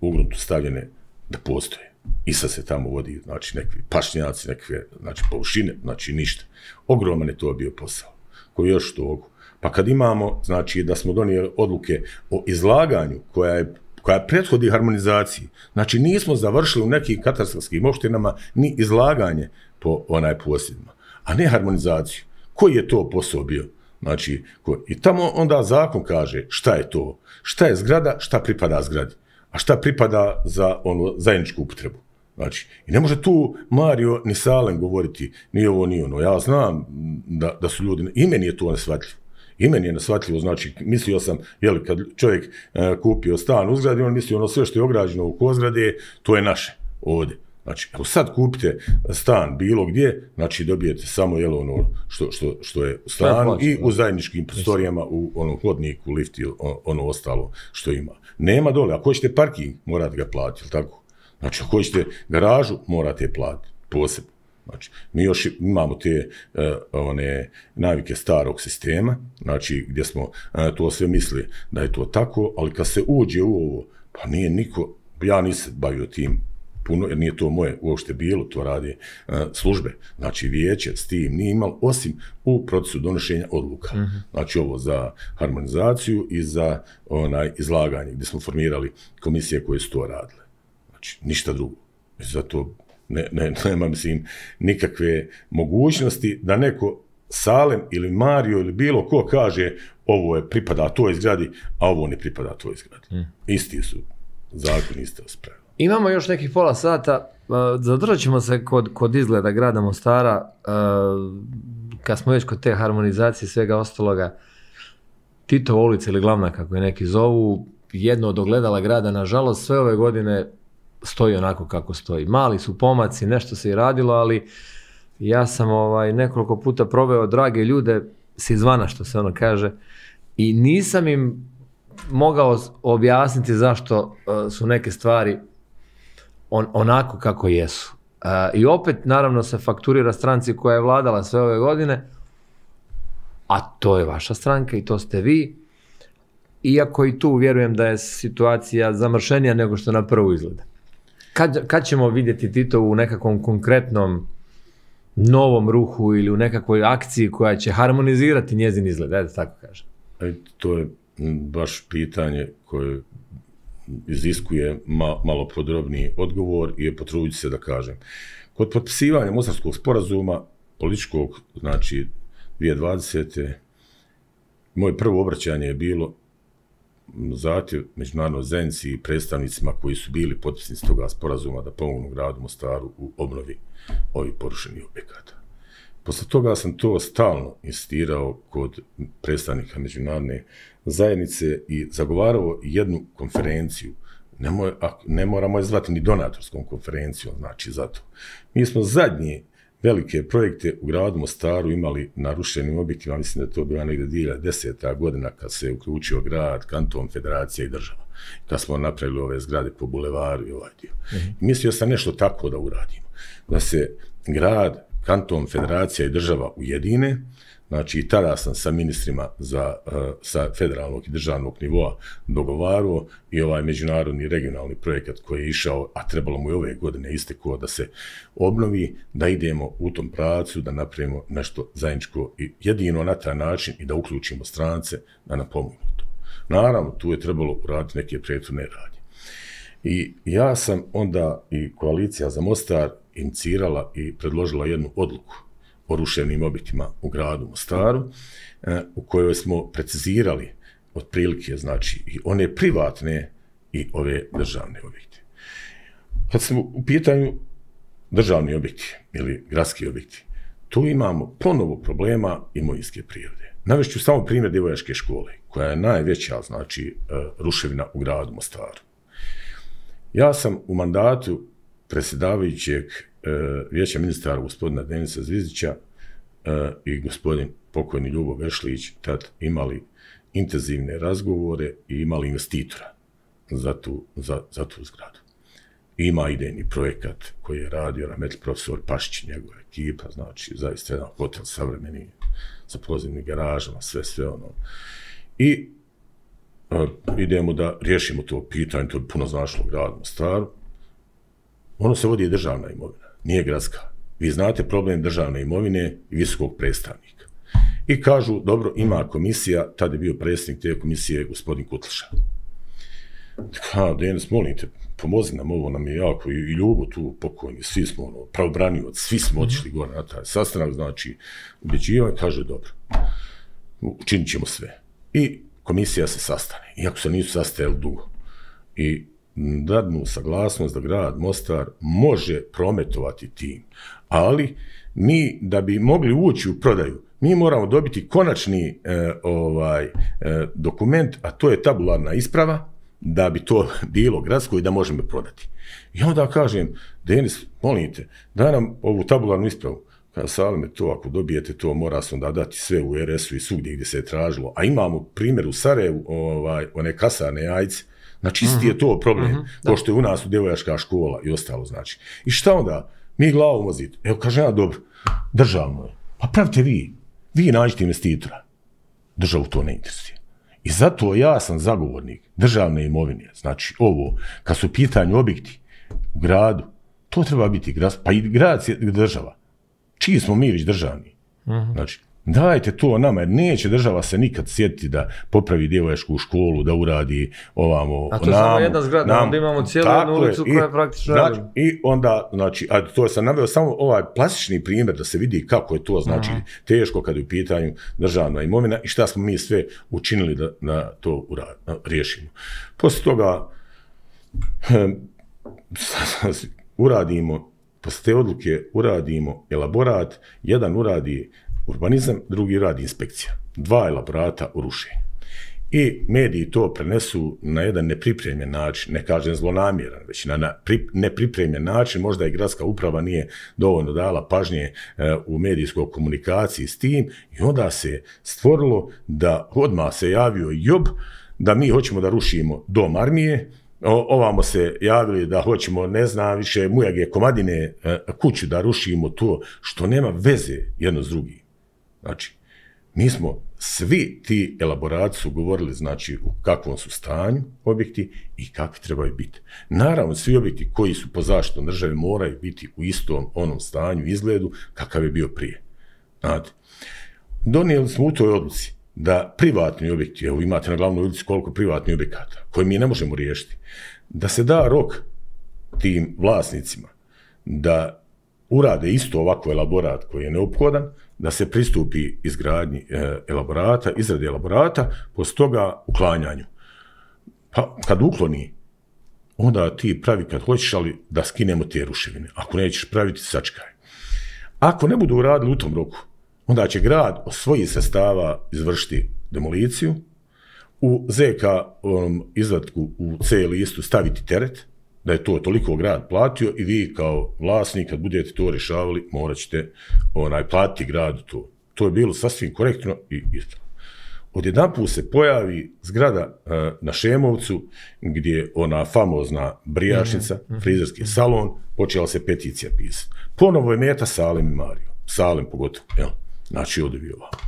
u gruntu stavljene da postoje. I sad se tamo vodi, znači, nekakvi pašnjaci, nekakve, znači, površine, znači, ništa. Ogroman je to bio posao. Koji još togu. Pa kad imamo, znači, da smo donijeli odluke o izlaganju koja prethodi harmonizaciji, znači, nismo završili u nekim katastarskim opštinama ni izlaganje po posjedima, a ne harmonizaciju. Koji je to posao bio? Znači, i tamo onda zakon kaže šta je to, šta je zgrada, šta pripada zgradi. A šta pripada za zajedničku upotrebu. Znači, i ne može tu Mario ni Salem govoriti ni ovo ni ono. Ja znam da su ljudi, i meni je to neshvatljivo. I meni je neshvatljivo, znači, mislio sam, kad čovjek kupio stan u zgradi, on mislio sve što je ograđeno oko zgrade, to je naše ovdje. Znači, evo sad kupite stan bilo gdje, znači dobijete samo što je u stanu i u zajedničkim prostorijama, u hodniku, lifti, ono ostalo što ima. Nema dole, ako hoćete parking, morate ga platiti, tako? Znači, ako hoćete garažu, morate je platiti, posebno. Znači, mi još imamo te navike starog sistema, znači, gdje smo to sve mislili da je to tako, ali kad se uđe u ovo, pa nije niko, ja nisam bavio tim puno, jer nije to moje uopšte bilo, to rade službe, znači vijeće s tim nije imalo, osim u procesu donošenja odluka. Znači ovo za harmonizaciju i za izlaganje, gdje smo formirali komisije koje su to radile. Znači, ništa drugo. Zato nema, mislim, nikakve mogućnosti da neko Salem ili Mario ili bilo ko kaže ovo je pripada toj zgradi, a ovo ne pripada toj zgradi. Isti su zakon, iste osprave. Imamo još nekih pola sata, zadržat ćemo se kod izgleda grada Mostara, kad smo već kod te harmonizacije svega ostaloga. Titova ulica ili Glavna, kako je neki zovu, jedno od ogledala grada, nažalost, sve ove godine stoji onako kako stoji. Mali su pomaci, nešto se i radilo, ali ja sam nekoliko puta proveo drage ljude s izvana, što se ono kaže, i nisam im mogao objasniti zašto su neke stvari onako kako jesu. I opet, naravno, se fakturira stranci koja je vladala sve ove godine, a to je vaša stranka i to ste vi, iako i tu vjerujem da je situacija zamršenija nego što na prvu izgleda. Kad ćemo vidjeti Titovu u nekakvom konkretnom novom ruhu ili u nekakvoj akciji koja će harmonizirati njezin izgled, da tako kažem? To je baš pitanje koje iziskuje malo podrobniji odgovor i potruditi se da kažem. Kod potpisivanja Mostarskog sporazuma, političkog, znači 2020. moje prvo obraćanje je bilo zahtjev međunarodnoj zajednici i predstavnicima koji su bili potpisnici toga sporazuma da pomognu gradu Mostaru u obnovi ovih porušenih objekata. Posle toga sam to stalno insistirao kod predstavnika međunarodne zajednice i zagovarao jednu konferenciju. Ne moramo je zvati ni donatorskom konferencijom, znači zato. Mi smo zadnje velike projekte u gradu Mostaru imali na rušenim objektima, mislim da je to bila negdje 2010. godina kad se uključio grad, kanton, federacija i država. Kad smo napravili ove zgrade po bulevaru i ovaj dio. Mislio sam nešto tako da uradimo. Da se grad, kanton, federacija i država ujedine. Znači, i tada sam sa ministrima sa federalnog i državnog nivoa dogovarao i ovaj međunarodni regionalni projekat koji je išao, a trebalo mu je ove godine istekao da se obnovi, da idemo u tom pravcu, da napravimo nešto zajedničko i jedino na taj način i da uključimo strance da nam pomognu to. Naravno, tu je trebalo uraditi neke prethodne radnje. I ja sam onda i Koalicija za Mostar inicirala i predložila jednu odluku o ruševnim objektima u gradu Mostaru, u kojoj smo precizirali otprilike, znači, i one privatne i ove državne objekte. Kad smo u pitanju državni objekti ili gradski objekti, tu imamo ponovo problema imovinske prirode. Navešću samo primjer Djevojačke škole, koja je najveća, znači, ruševina u gradu Mostaru. Ja sam u mandatu predsjedavajućeg vijeća ministara gospodina Denisa Zvizdića i gospodin pokojni Ljubo Vešlić tad imali intenzivne razgovore i imali investitora za tu zgradu. Ima idejni projekat koji je radio rahmetli profesor Pašić i njegova ekipa, znači zaista jedan hotel savremeni sa pozivnim garažama, sve ono. I idemo da riješimo to pitanje, to bi puno značilo gradu Mostaru. Ono se vodi državna imovina, nije gradska. Vi znate problem državne imovine i visokog predstavnika. I kažu, dobro, ima komisija, tad je bio predsjednik te komisije gospodin Kutliša. Denis, molim te, pomozi nam, ovo nam je jako, i Ljubo tu pokojni, svi smo pravobranioci, svi smo otišli gore na taj sastanak, znači, ubjeđivanje, kaže, dobro, učinit ćemo sve. I komisija se sastane, iako se nisu sastajali dugo. I dadnu saglasnost da grad Mostar može prometovati tim, ali mi da bi mogli ući u prodaju, mi moramo dobiti konačni dokument, a to je tabularna isprava, da bi to bilo gradsko i da možemo prodati. I onda kažem, Denis, molim te, daj nam ovu tabularnu ispravu. Kada Salime, to ako dobijete to, mora se onda dati sve u RS-u i svugdje gdje se je tražilo. A imamo primjer u Sarajevu, one kasarne jajce. Znači, isti je to problem, ko što je u nas u Djevojačka škola i ostalo, znači. I šta onda? Mi glavom vozite. Evo, kažem ja, dobro, državno je. Pa pravite vi nađite investitora. Državu to ne interesuje. I zato ja sam zagovornik državne imovine. Znači, ovo, kad su pitanju objekti u gradu, to treba biti grad, pa i grad je država. Čiji smo mi već državni? Znači, dajte to nama, jer neće država se nikad sjetiti da popravi Djevojačku školu, da uradi ovamo... A to je samo jedna zgrada, onda imamo cijelu jednu ulicu koja je praktično radila. I onda, znači, a to sam naveo samo ovaj plastični primjer da se vidi kako je to, znači, teško kad je u pitanju državna imovina i šta smo mi sve učinili da to riješimo. Poslije toga posle te odluke uradimo elaborat, jedan uradi urbanizam, drugi uradi inspekcija. 2 elaborata o rušenju. i mediji to prenesu na jedan nepripremljen način, ne kažem zlonamjeran, već na nepripremljen način, možda i gradska uprava nije dovoljno dala pažnje u medijskoj komunikaciji s tim i onda se stvorilo da odmah se javio JOB da mi hoćemo da rušimo dom armije, ovamo se javili da hoćemo, ne znam više, Mujage Komadine kuću da rušimo, to što nema veze jedno s drugim. Znači, mi smo svi ti elaborati su govorili, znači, u kakvom su stanju objekti i kakvi trebaju biti. Naravno, svi objekti koji su po zaštitom države moraju biti u istom onom stanju, izgledu, kakav je bio prije. Znate, donijeli smo u toj odluci da privatni objekti, evo imate na glavnoj ulici koliko privatnih objekata, koje mi ne možemo riješiti, da se da rok tim vlasnicima da urade isto ovako elaborat koji je neophodan, da se pristupi izgradnji elaborata, izradi elaborata, poslije toga uklanjanju. Pa kad ukloni, onda ti pravi kad hoćeš, ali da skinemo te ruševine. Ako nećeš praviti, sačekaj. Ako ne budu uradili u tom roku, onda će grad od svojih sredstava izvršiti demoliciju, u ZK izvatku u C listu staviti teret, da je to toliko grad platio i vi kao vlasnik, kad budete to rješavali, morat ćete platiti gradu to. To je bilo sasvim korektno i ispravno. Odjedanput se pojavi zgrada na Šemovcu, gdje je ona famozna brijačnica, frizerski salon, počela se peticija pisati. Ponovo je meta Salim i Mario. Salim pogotovo, jel? Znači, ovdje bio ovako.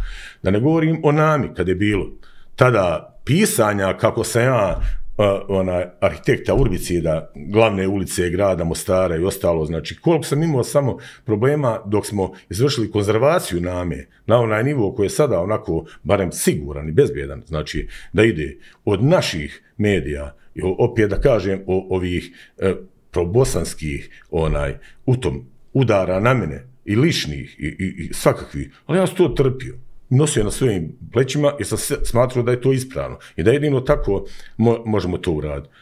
Da ne govorim o Nami, kad je bilo tada pisanja kako sam ja arhitekta Urbicida, glavne ulice grada Mostara i ostalo, znači koliko sam imao samo problema dok smo izvršili konzervaciju Name na onaj nivo koji je sada onako barem siguran i bezbjedan, znači da ide od naših medija, opet da kažem ovih probosanskih u tom udara na mene i ličnih i svakakvih, ali ja sam to trpio. Nosio na svojim plećima jer sam smatrao da je to ispravno i da jedino tako možemo to uraditi.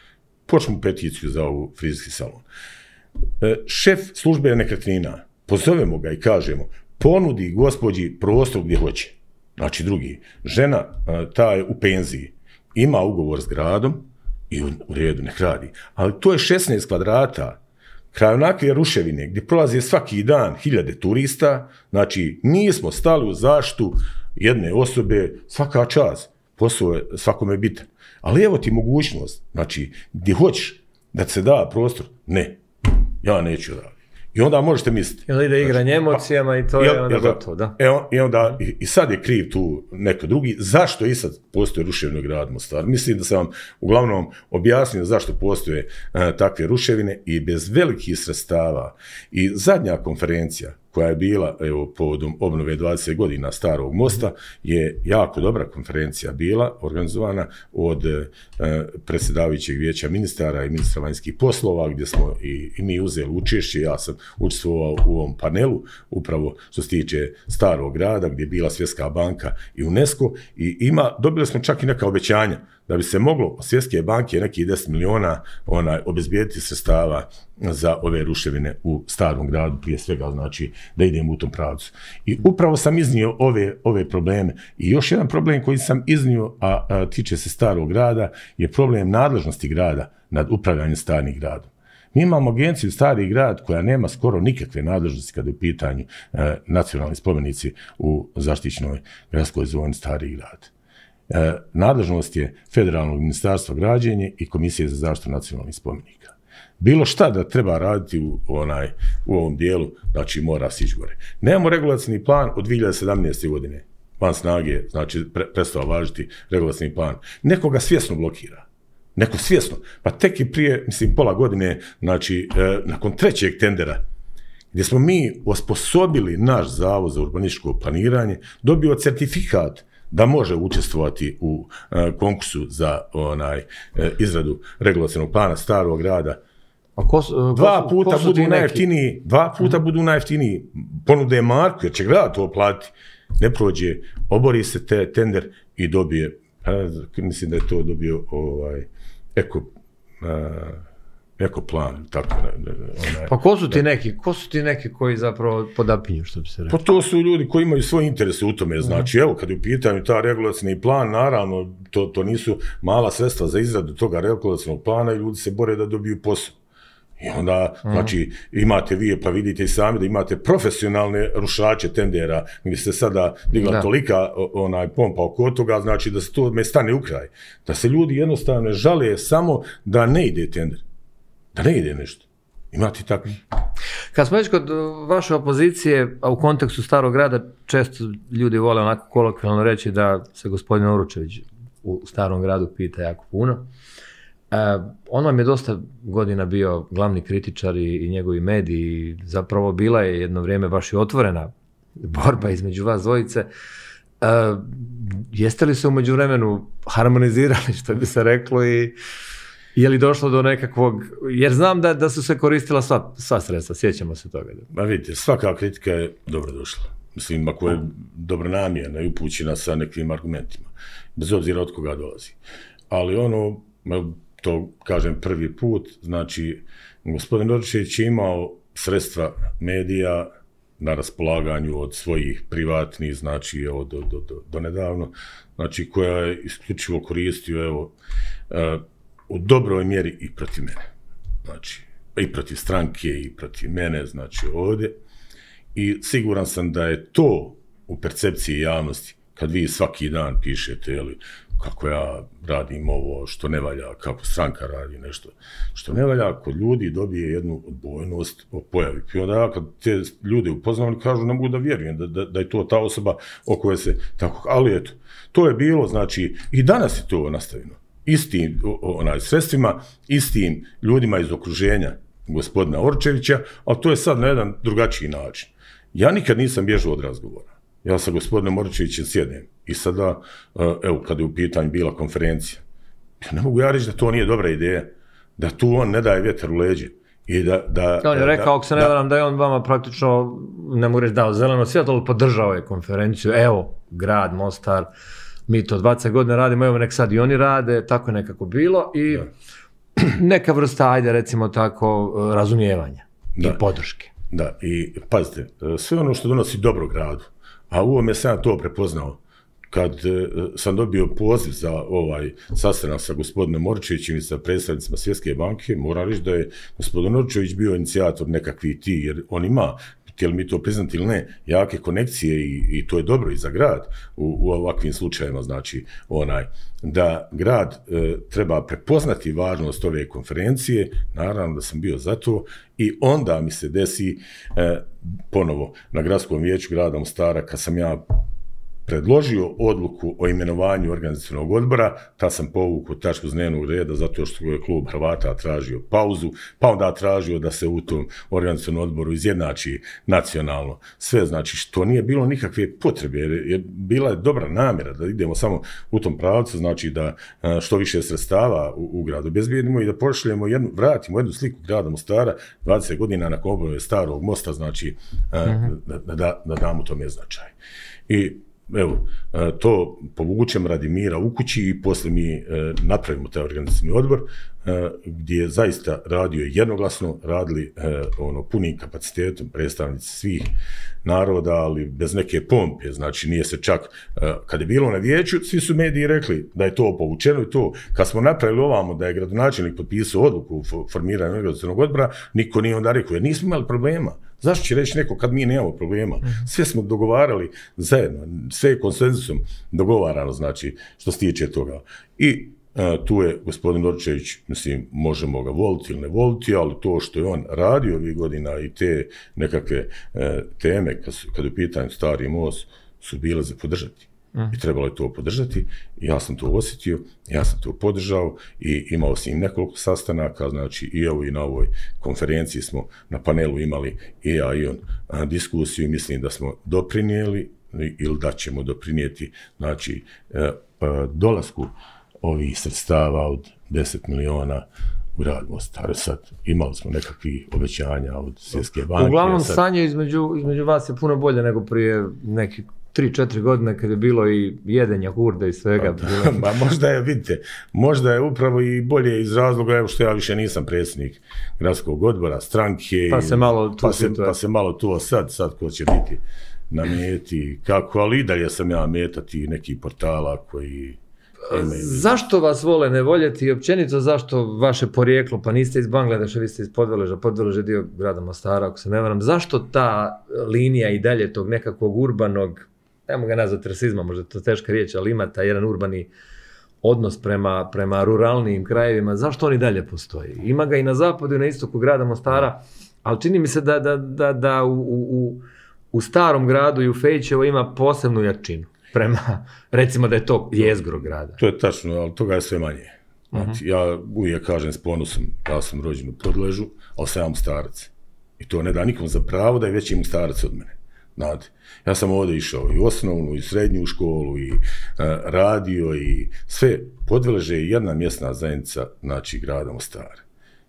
Počnemo peticiju za ovu frizerski salon. Šef službe nekretnina, pozovemo ga i kažemo, ponudi gospođi prostor gdje hoće. Znači drugi, žena ta je u penziji, ima ugovor s gradom i u redu nek radi, ali to je 16 kvadrata, kraj onakve ruševine gdje prolaze svaki dan hiljade turista, znači nismo stali u zaštitu jedne osobe, svaka čast, posao je svakome bitan. Ali evo ti mogućnost, znači gdje hoćeš da se da prostor, ne, ja neću raditi. I onda možete misliti. Ili ide igranje emocijama i to je onda gotovo, da. I onda, i sad je kriv tu neko drugi, zašto i sad postoje ruševine u gradu Mostar? Mislim da sam vam uglavnom objasnio zašto postoje takve ruševine i bez velikih sredstava. I zadnja konferencija koja je bila povodom obnove 20 godina Starog mosta je jako dobra konferencija bila organizovana od predsjedavajućeg vijeća ministara i ministra vanjskih poslova gdje smo i mi uzeli učešće, ja sam učestvovao u ovom panelu upravo što se tiče Starog grada gdje je bila Svjetska banka i UNESCO i dobili smo čak i neka obećanja da bi se moglo od Svjetske banke nekih 10 miliona obezbijediti sredstava za ove ruševine u Starom gradu, prije svega znači da idemo u tom pravcu. I upravo sam iznio ove probleme. I još jedan problem koji sam iznio, a tiče se Starog grada, je problem nadležnosti grada nad upravljanjem Starim gradom. Mi imamo agenciju Stari grad koja nema skoro nikakve nadležnosti kada je u pitanju nacionalni spomenici u zaštićenoj gradskoj zoni Stari grad. Nadležnost je Federalnog ministarstva građenja i Komisije za zaštitu nacionalnih spomenika. Bilo šta da treba raditi u ovom dijelu, znači mora sići gore. Nemamo regulacijni plan od 2017. godine, van snage, znači prestao važiti regulacijni plan. Neko ga svjesno blokira. Neko svjesno. Pa tek i prije, mislim, pola godine, znači, nakon trećeg tendera, gdje smo mi osposobili naš zavod za urbanističko planiranje, dobio certifikat da može učestvovati u konkursu za izradu regulacijnog plana Starog grada. Dva puta budu najjeftiniji, ponude marku, jer će grad to platiti. Ne prođe, obori se tender i dobije, mislim da je to dobio ekoplan, tako. Pa ko su ti neki koji zapravo podapinju, što bi se rekao? Pa to su ljudi koji imaju svoje interese u tome, znači, evo, kad je u pitanju ta regulacijni plan, naravno, to nisu mala sredstva za izradu toga regulacijnog plana i ljudi se bore da dobiju posao. I onda, znači, imate vi, pa vidite i sami da imate profesionalne rušače tendera, gdje se sada digla tolika pompa oko toga, znači da se to me stane u kraj. Da se ljudi jednostavno žale samo da ne ide tender, da ne ide nešto. Imate tako. Kad smo već kod vaše opozicije, a u kontekstu Starog grada, često ljudi vole onako kolokvijalno reći da se gospodin Uročević u Starom gradu pita jako puno. On vam je dosta godina bio glavni kritičar i njegovi mediji, zapravo bila je jedno vrijeme baš i otvorena borba između vas dvojice. Jeste li se u međuvremenu harmonizirali, što bi se reklo, i je li došlo do nekakvog, jer znam da su se koristila sva sredstva, sjećamo se toga. Ma vidite, svaka kritika je dobrodošla. Mislim, ako je dobronamjerna i upućena sa nekim argumentima, bez obzira od koga dolazi. Ali to kažem prvi put, znači, gospodin Uročević je imao sredstva medija na raspolaganju od svojih privatnih, znači, do nedavno, znači, koja je isključivo koristio, evo, u dobroj mjeri i protiv mene. Znači, i protiv stranke, i protiv mene, znači, ovdje. I siguran sam da je to u percepciji javnosti, kad vi svaki dan pišete, jeli, kako ja radim ovo što ne valja, kako stranka radi nešto što ne valja, kod ljudi dobije jednu odbojnost o pojavi. I onda ja kad te ljude upoznam, kažu, ne mogu da vjerujem da je to ta osoba o kojoj se tako... Ali eto, to je bilo, znači, i danas je to nastavljeno. Istim sredstvima, istim ljudima iz okruženja gospodina Uročevića, ali to je sad na jedan drugačiji način. Ja nikad nisam bježao od razgovora. Ja sa gospodinom Uročevićem sjednem i sada, evo, kad je u pitanju bila konferencija, ne mogu ja reći da to nije dobra ideja, da tu on ne daje vjetar u leđe. On je rekao, ako se ne varam, da je on vama praktično, ne mogu reći dao zeleno svjetlo, ali podržao je konferenciju, evo, grad, Mostar, mi to 20 godina radimo, evo nek sad i oni rade, tako je nekako bilo i neka vrsta, ajde recimo tako, razumijevanja i podrške. Da, i pazite, sve ono što donosi dobro gradu, a u ovome sam to prepoznao, kad sam dobio poziv za ovaj sastanak sa gospodinom Uročevićem i sa predstavnicima Svjetske banke, moram reći da je gospodin Uročević bio inicijator nekakvih jer on ima, htjeli mi to priznati ili ne, jake konekcije i to je dobro i za grad u ovakvim slučajevima, znači da grad treba prepoznati važnost ove konferencije, naravno da sam bio za to i onda mi se desi ponovo na gradskom vijeću grada Mostara kad sam ja predložio odluku o imenovanju organizacionog odbora, tad sam povukao tačku s dnevnog reda zato što je klub Hrvata tražio pauzu, pa onda tražio da se u tom organizacionom odboru izjednači nacionalno sve, znači što nije bilo nikakve potrebe, jer bila je dobra namjera da idemo samo u tom pravcu, znači da što više sredstava u gradu obezbijedimo i da pošaljemo vratimo jednu sliku grada Mostara 20 godina nakon obnove Starog mosta, znači da damo tome značaj. I evo, to povučem radi mira u kući i posle mi napravimo taj organizacijni odbor gdje je zaista radio jednoglasno, radili punim kapacitetom predstavnici svih naroda, ali bez neke pompe, znači nije se čak, kad je bilo na vijeću, svi su mediji rekli da je to povučeno i to, kad smo napravili ovamo da je gradonačelnik potpisao odluku u formiranju organizacionog odbora, niko nije onda rekao, jer nismo imali problema. Zašto će reći neko kad mi nemamo problema? Sve smo dogovarali zajedno, sve je konsenzusom dogovarano, znači, što se tiče toga. I tu je gospodin Uročević, mislim, možemo ga voliti ili ne voliti, ali to što je on radio ovih godina i te nekakve teme, kad je u pitanju Stari most, su bile za podržati. I trebalo je to podržati, i ja sam to osjetio, ja sam to podržao i imao sam im nekoliko sastanaka, znači i evo i na ovoj konferenciji smo na panelu imali i ja i on diskusiju i mislim da smo doprinijeli ili da ćemo doprinijeti, znači dolasku ovih sredstava od 10 miliona u grad Mostar. Sad imali smo nekakvih obećanja od Svjetske banke. Uglavnom stanje između vas je puno bolje nego prije nekih 3-4 godine kad je bilo i jedenja hurde i svega. Ma možda je, vidite, možda je upravo i bolje iz razloga evo što ja više nisam predsjednik gradskog odbora, stranke. Pa se malo tu pa se malo to sad ko će biti na meti, kako, ali i dalje sam ja metati nekih portala koji... Zašto vas vole ne voljeti i općenito zašto vaše porijeklo, pa niste iz Bangladeša, vi ste iz Podveleža, Podvelež je dio grada Mostara, ako se ne varam, zašto ta linija i dalje tog nekakvog urbanog, nemo ga nazvati rasizma, možda je to teška riječ, ali ima taj jedan urbani odnos prema ruralnim krajevima, zašto on i dalje postoji? Ima ga i na zapadu i na istoku grada Mostara, ali čini mi se da u starom gradu i u Fejčevo ima posebnu jačinu. Prema, recimo da je to jezgro grada. To je tačno, ali toga je sve manje. Znači, ja uvijek kažem s ponosom, ja sam rođen u Podležu, ali sam ja Mostarac. I to ne da nikom za pravo da je veći Mostarac od mene. Znate, ja sam ovdje išao i osnovnu, i srednju školu, i radio, i sve. Podveleže je jedna mjesna zajednica, znači, grada Mostara.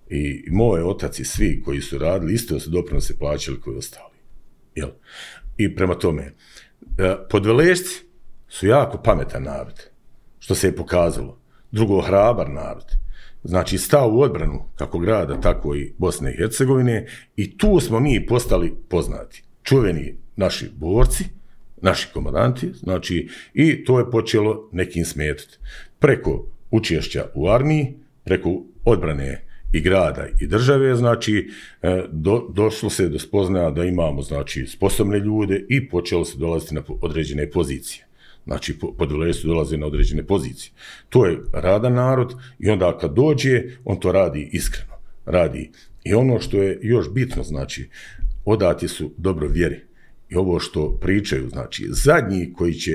I moj otac i svi koji su radili, isto su doprinose plaćali koji ostali. Jel? I prema tome, Podveležci su jako pametan narod, što se je pokazalo. Drugo, hrabar narod. Znači, stao u odbranu kako grada, tako i Bosne i Hercegovine i tu smo mi postali poznati. Čuveni naši borci, naši komandanti, znači, i to je počelo nekim smetati. Preko učešća u armiji, preko odbrane i grada i države, znači, došlo se do spoznaja da imamo, znači, sposobne ljude i počelo se dolaziti na određene pozicije. Znači, Podveležci su dolaze na određene pozicije. To je radan narod i onda kad dođe, on to radi iskreno. Radi. I ono što je još bitno, znači, odati su dobro vjeri. I ovo što pričaju, znači, zadnji koji će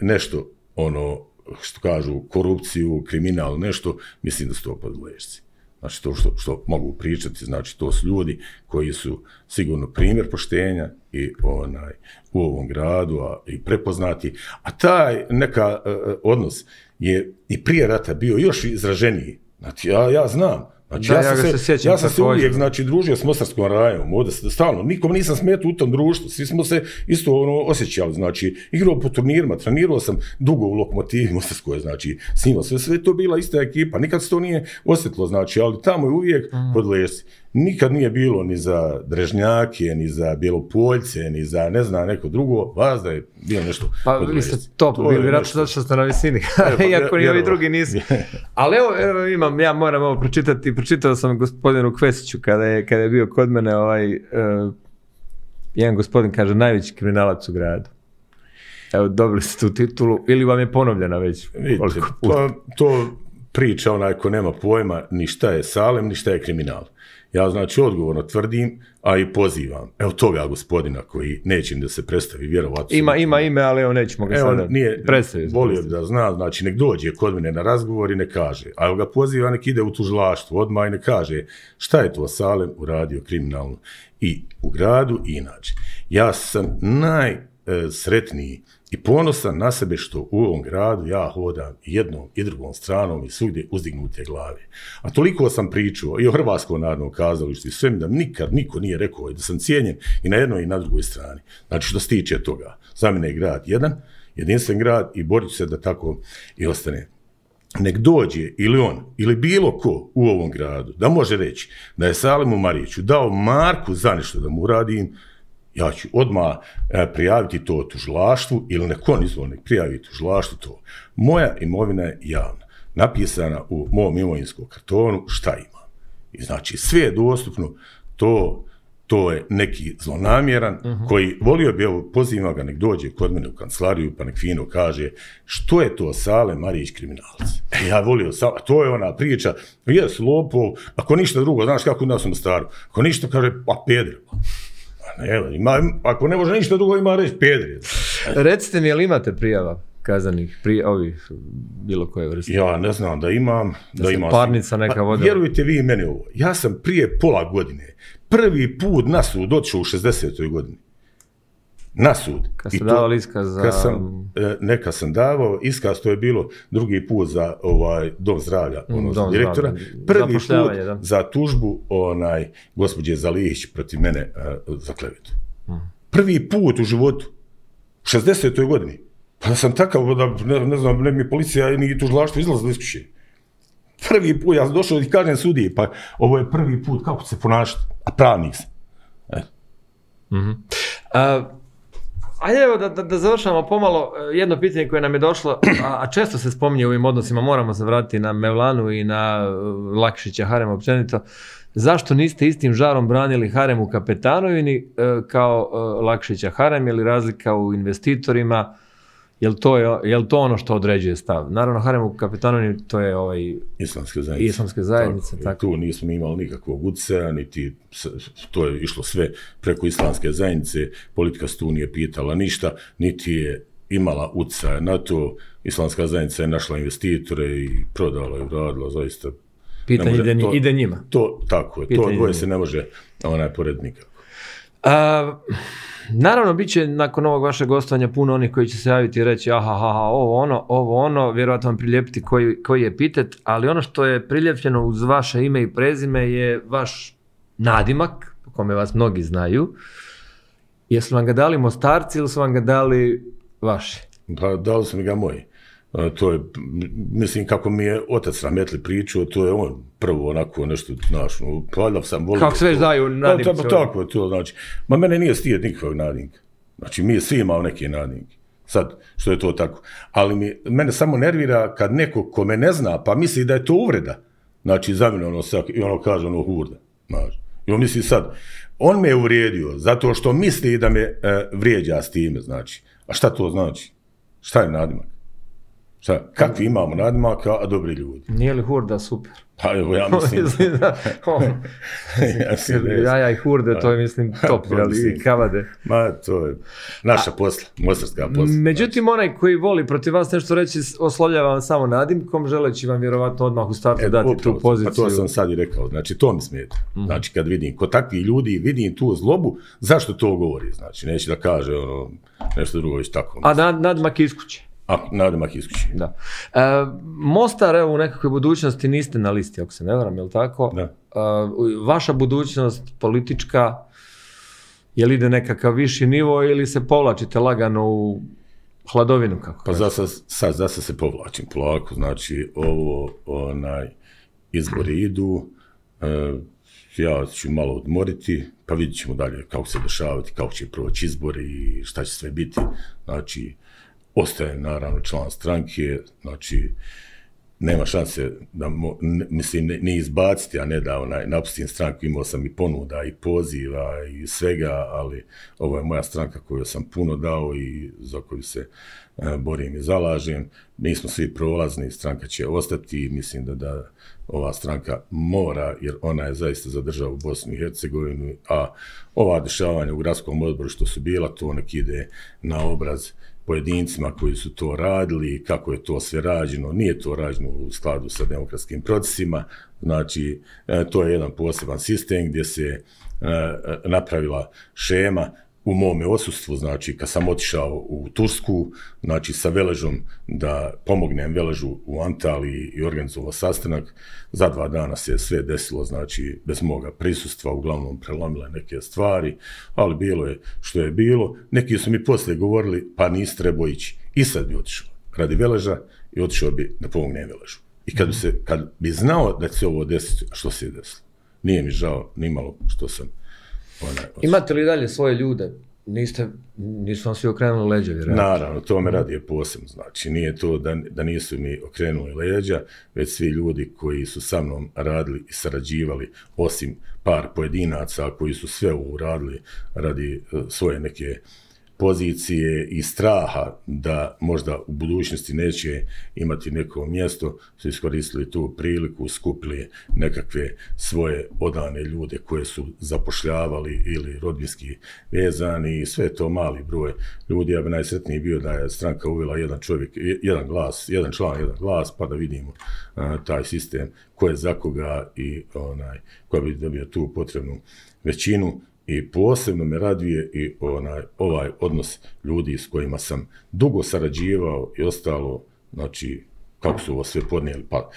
nešto, ono, što kažu, korupciju, kriminal, nešto, mislim da su to Podveležci. Znači, to što mogu pričati, znači, to su ljudi koji su sigurno primjer poštenja i u ovom gradu i prepoznati. A taj neka odnos je i prije rata bio još izraženiji. Znači, ja znam. Znači, ja sam se uvijek, znači, družio s Mostarskom rajom, ovdje stalno, nikom nisam smetao u tom društvu, svi smo se isto osjećali, znači, igrao po turnirima, trenirao sam dugo u Lokomotivi Mostarskoj, znači, snimao sve to bila ista ekipa, nikad se to nije osjetilo, znači, ali tamo je uvijek Podveležci. Nikad nije bilo ni za Drežnjake, ni za Bjelopoljce, ni za ne znam neko drugo, vas da je bilo nešto. Pa vi ste top, bili vjerojatno zato što ste na visini, iako ni ovi drugi nisu. Ali evo ja moram ovo pročitati, pročitao sam gospodinu Kvesiću kada je bio kod mene jedan gospodin kaže najveći kriminalac u gradu. Evo, dobili ste tu titulu, ili vam je ponovljena već? Vidite, to priča onaj ko nema pojma ni šta je Salem, ni šta je kriminal. Ja znači odgovorno tvrdim, a i pozivam. Evo toga gospodina koji neće da se predstavi, vjerovatno. Ima ime, ali evo nećemo ga sada predstaviti. Volio bi da zna, znači nek dođe kod mene na razgovor i ne kaže. A evo ga poziva, nek ide u tužilaštvo odmah i ne kaže šta je to Salem uradio kriminalno i u gradu i inače. Ja sam najsretniji i ponosan na sebe što u ovom gradu ja hodam jednom i drugom stranom i svugdje uzdignute glave. A toliko sam pričao i o Hrvatskom narodnom kazalištu i sve mi da nikad niko nije rekao da sam cijenjen i na jednoj i na drugoj strani. Znači što se tiče toga, za mene je grad jedan, jedinstven grad i borit ću se da tako i ostane. Nek dođe ili on, ili bilo ko u ovom gradu, da može reći da je Salemu Mariću dao marku za nešto da mu uradim, ja ću odmah prijaviti to tužilaštvu ili neko nek prijavi tužilaštvu to. Moja imovina je javna, napisana u mom imovinskom kartonu šta ima. I znači sve je dostupno, to je neki zlonamjeran koji volio bi, evo pozivam ga nek dođe kod mene u kancelariju pa nek fino kaže što je to Salem Marić kriminalac. Ja volio, to je ona priča, jes lopov, ako ništa drugo, znaš kako u nas u Mostaru, ako ništa kaže pa peder. Evo, ako ne može ništa drugo ima reći pedri. Recite mi, je li imate prijava kazanih, ovih bilo koje vrste? Ja ne znam da imam. Da se parnica neka vodila. Vjerujte vi meni ovo, ja sam prije pola godine prvi put na sud otišao u 60. godini. Na sud. Kad ste davali iskaz za... Neka sam davao iskaz, to je bilo drugi put za dom zdravlja, za direktora. Prvi put za tužbu gospođe Zalihić protiv mene za klevetu. Prvi put u životu. 60. godini. Pa da sam takav, da ne znam, ne mi policija ni tužilaštvo izlazili iz kuće. Prvi put, ja sam došao i kažem sudiji, pa ovo je prvi put, kako se ponašati, a pravnik sam. Ajde evo da završamo pomalo jedno pitanje koje nam je došlo, a često se spominje u ovim odnosima, moramo se vratiti na Mevlanu i na Lakšića, harem općenito. Zašto niste istim žarom branili harem u Kapetanovini kao Lakšića harem, je li razlika u investitorima, je li to ono što određuje stav? Naravno, harem u Kapetanovini to je islamske zajednice. Tako. Tu nismo imali nikakvog utjecaja, niti to je išlo sve preko islamske zajednice, politika se tu nije pitala ništa, niti je imala utjecaja na to, islamska zajednica je našla investitore i prodala i uradila, zaista. Pitanje ide njima. Tako je, to dvoje se ne može pored nikako. Naravno, bit će nakon ovog vašeg gostovanja puno onih koji će se javiti i reći ovo ono, vjerojatno vam prilijepiti koji je epitet, ali ono što je priljepljeno uz vaše ime i prezime je vaš nadimak, po kome vas mnogi znaju. Jesu vam ga dali Mostarci ili su vam ga dali vaši? Pa dali su mi ga moji. To je, mislim, kako mi je otac Rahmetli pričao, to je on prvo onako nešto, znaš, valjda sam volio. Kako sve daju nadimke? Tako je to, znači. Ma mene nije stijed nikakvog nadimka. Znači, mi svi imao neke nadimke. Sad, što je to tako. Ali mene samo nervira kad neko ko me ne zna, pa misli da je to uvreda. Znači, za mene i ono kaže hurda. Znači. I on misli sad, on me je uvrijedio zato što misli da me vrijeđa s time, znači. A šta to znači? Šta je nadimak? Kakvi imamo nadimaka, a dobri ljudi. Nije li hurda super? Pa evo, ja mislim. Jaja i hurde, to je mislim top, ali kavade. Ma, to je naša posla, mostarska posla. Međutim, onaj koji voli protiv vas nešto reći, oslovljava vam samo nadimkom, želeći vam vjerovatno odmah u startu dati tu poziciju. Pa to sam sad i rekao, znači to mi smeta. Znači kad vidim, kod takvih ljudi vidim tu zlobu, zašto to govori? Znači, neće da kaže nešto drugo već tako. A nadimak iz kuće? Nadimak iz kuće. Da. Mostar, evo, u nekakvoj budućnosti niste na listi, ako se ne varam, je li tako? Da. Vaša budućnost politička, je li ide nekakav viši nivo ili se povlačite lagano u hladovinu? Kako pa za sad se povlačim polako, znači izbori idu, ja ću malo odmoriti, pa vidjet ćemo dalje kako se dešavati, kako će proći izbori i šta će sve biti, znači ostaje naravno član stranke, znači nema šanse da, mislim, ne izbaciti, a ne da napustim stranku, imao sam i ponuda i poziva i svega, ali ovo je moja stranka koju sam puno dao i za koju se borim i zalažem. Nismo svi prolazni, stranka će ostati i mislim da ova stranka mora, jer ona je zaista za državu Bosnu i Hercegovinu, a ova dešavanja u gradskom odboru što su bila, to nek ide na obraz pojedincima koji su to radili, kako je to sve rađeno, nije to rađeno u skladu sa demokratskim procesima, znači to je jedan poseban sistem gdje se napravila šema u mome odsustvu, znači kad sam otišao u Tursku, znači sa Veležom da pomognem Veležu u Antaliji i organizovao sastanak, za 2 dana se sve desilo, znači bez moga prisustva, uglavnom prelomile neke stvari, ali bilo je što je bilo. Neki su mi poslije govorili, pa nisi trebao ići. I sad bi otišao radi Veleža i otišao bi da pomognem Veležu. I kad bi znao da će se ovo desiti, a što se je desilo? Nije mi žao nimalo što sam. Imate li dalje svoje ljude? Nisu vam svi okrenuli leđa, vjerojatno? Naravno, to me radi je posebno. Znači, nije to da nisu mi okrenuli leđa, već svi ljudi koji su sa mnom radili i sarađivali, osim par pojedinaca koji su sve uradili radi svoje neke pozicije i straha da možda u budućnosti neće imati neko mjesto, su iskoristili tu priliku, skupili nekakve svoje odane ljude koje su zapošljavali ili rodbinski vezani i sve to mali broj ljudi. Ja bi najsretniji bio da je stranka uvela jedan čovjek, jedan glas, jedan član, jedan glas, pa da vidimo taj sistem ko je za koga i ko bi dobio tu potrebnu većinu. I posebno me raduje i ovaj odnos ljudi s kojima sam dugo sarađivao i ostalo, znači, kako su ovo sve podnijeli. Pa,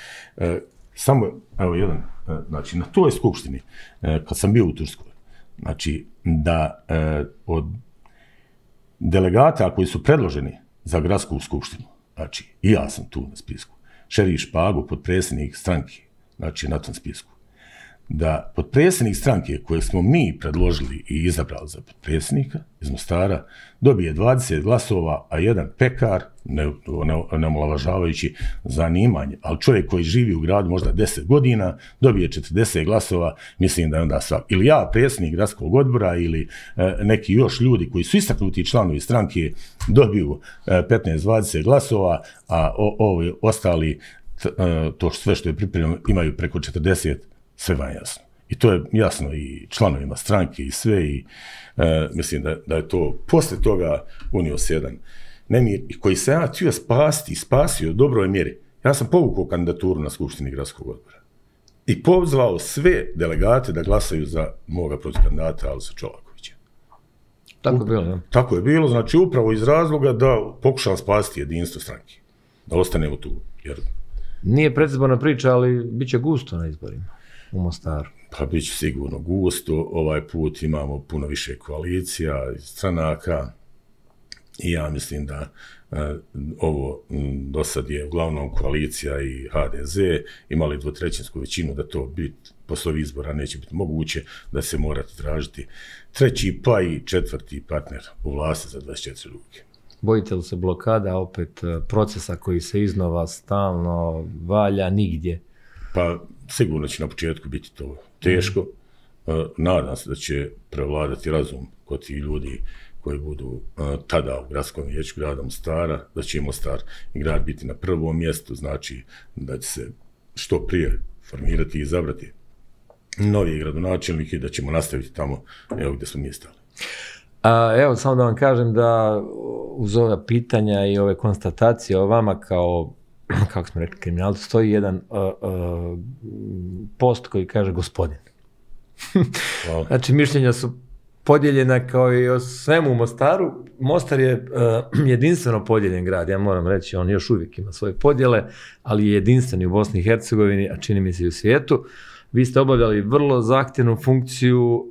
samo, evo jedan, znači, na toj skupštini, kad sam bio u Turskoj, znači, delegata koji su predloženi za gradsku skupštinu, znači i ja sam tu na spisku, Šerif Špago, potpredsjednik stranke, znači na tom spisku, da potpredsjednik stranke kojeg smo mi predložili i izabrali za potpredsjednika iz Mostara dobije 20 glasova, a jedan pekar, ne omalovažavajući zanimanje, ali čovjek koji živi u gradu možda 10 godina, dobije 40 glasova, mislim da je onda svak. Ili ja, predsjednik gradskog odbora, ili neki još ljudi koji su istaknuti članovi stranke dobiju 15-20 glasova, a ovi ostali, to sve što je pripremljeno, imaju preko 40, sve vam jasno. I to je jasno i članovima stranke i sve, i mislim da je to poslije toga unio se jedan nemir koji se ja htio spasio u dobroj mjeri. Ja sam povukao kandidaturu na skupštini gradskog odbora i pozvao sve delegate da glasaju za moga protikandidata Alisa Čolakovića. Tako je bilo, ne? Tako je bilo, znači upravo iz razloga da pokušam spasiti jedinstvo stranke, da ostanemo tu. Jer nije predizborna priča, ali bit će gusto na izborima u Mostaru. Pa bit će sigurno gusto, ovaj put imamo puno više koalicija, stranaka, i ja mislim da ovo do sad je uglavnom koalicija i HDZ imali dvotrećinsku većinu, da to posle ovih izbora neće biti moguće, da se morati tražiti treći pa i četvrti partner u vlasti za 24 ruke. Bojite li se blokada, opet procesa koji se iznova stalno valja nigdje? Pa sigurno će na početku biti to teško. Nadam se da će prevladati razum kod tih ljudi koji budu tada u gradskom vijeću grada Mostara, da će Mostar i grad biti na prvom mjestu, znači da će se što prije formirati i izabrati novi gradonačelnik i da ćemo nastaviti tamo evo gdje smo mi stali. Evo, samo da vam kažem da uz ova pitanja i ove konstatacije o vama kao, kako smo rekli, kriminalci, stoji jedan post koji kaže gospodin. Znači, mišljenja su podijeljena kao i o svemu u Mostaru. Mostar je jedinstveno podijeljen grad, ja moram reći, on još uvijek ima svoje podjele, ali je jedinstveni u Bosni i Hercegovini, a čini mi se i u svijetu. Vi ste obavljali vrlo zahtjevnu funkciju,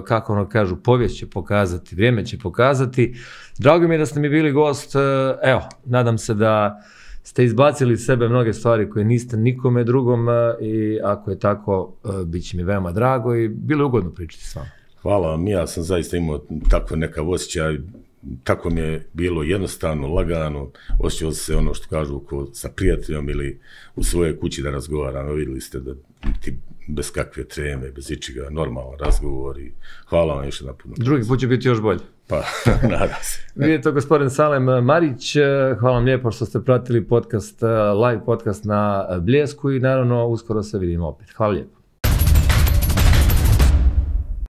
kako ono kažu, povijest će pokazati, vrijeme će pokazati. Drago mi je da ste mi bili gost, evo, nadam se da ste izbacili iz sebe mnoge stvari koje niste nikome drugom i ako je tako, bit će mi veoma drago i bilo je ugodno pričati s vama. Hvala vam, ja sam zaista imao tako nekav osjećaj, tako mi je bilo jednostavno, lagano, osjećao se ono što kažu sa prijateljom ili u svojoj kući da razgovaramo, vidjeli ste da ti bez kakve treme, bez ičega, normalan razgovor i hvala vam još jedan puno. Drugi put će biti još bolje. Pa, nadam se. Vidite to gospodin Salem Marić, hvala vam lijepo što ste pratili podcast, live podcast na Bljesku i naravno uskoro se vidimo opet. Hvala lijepo.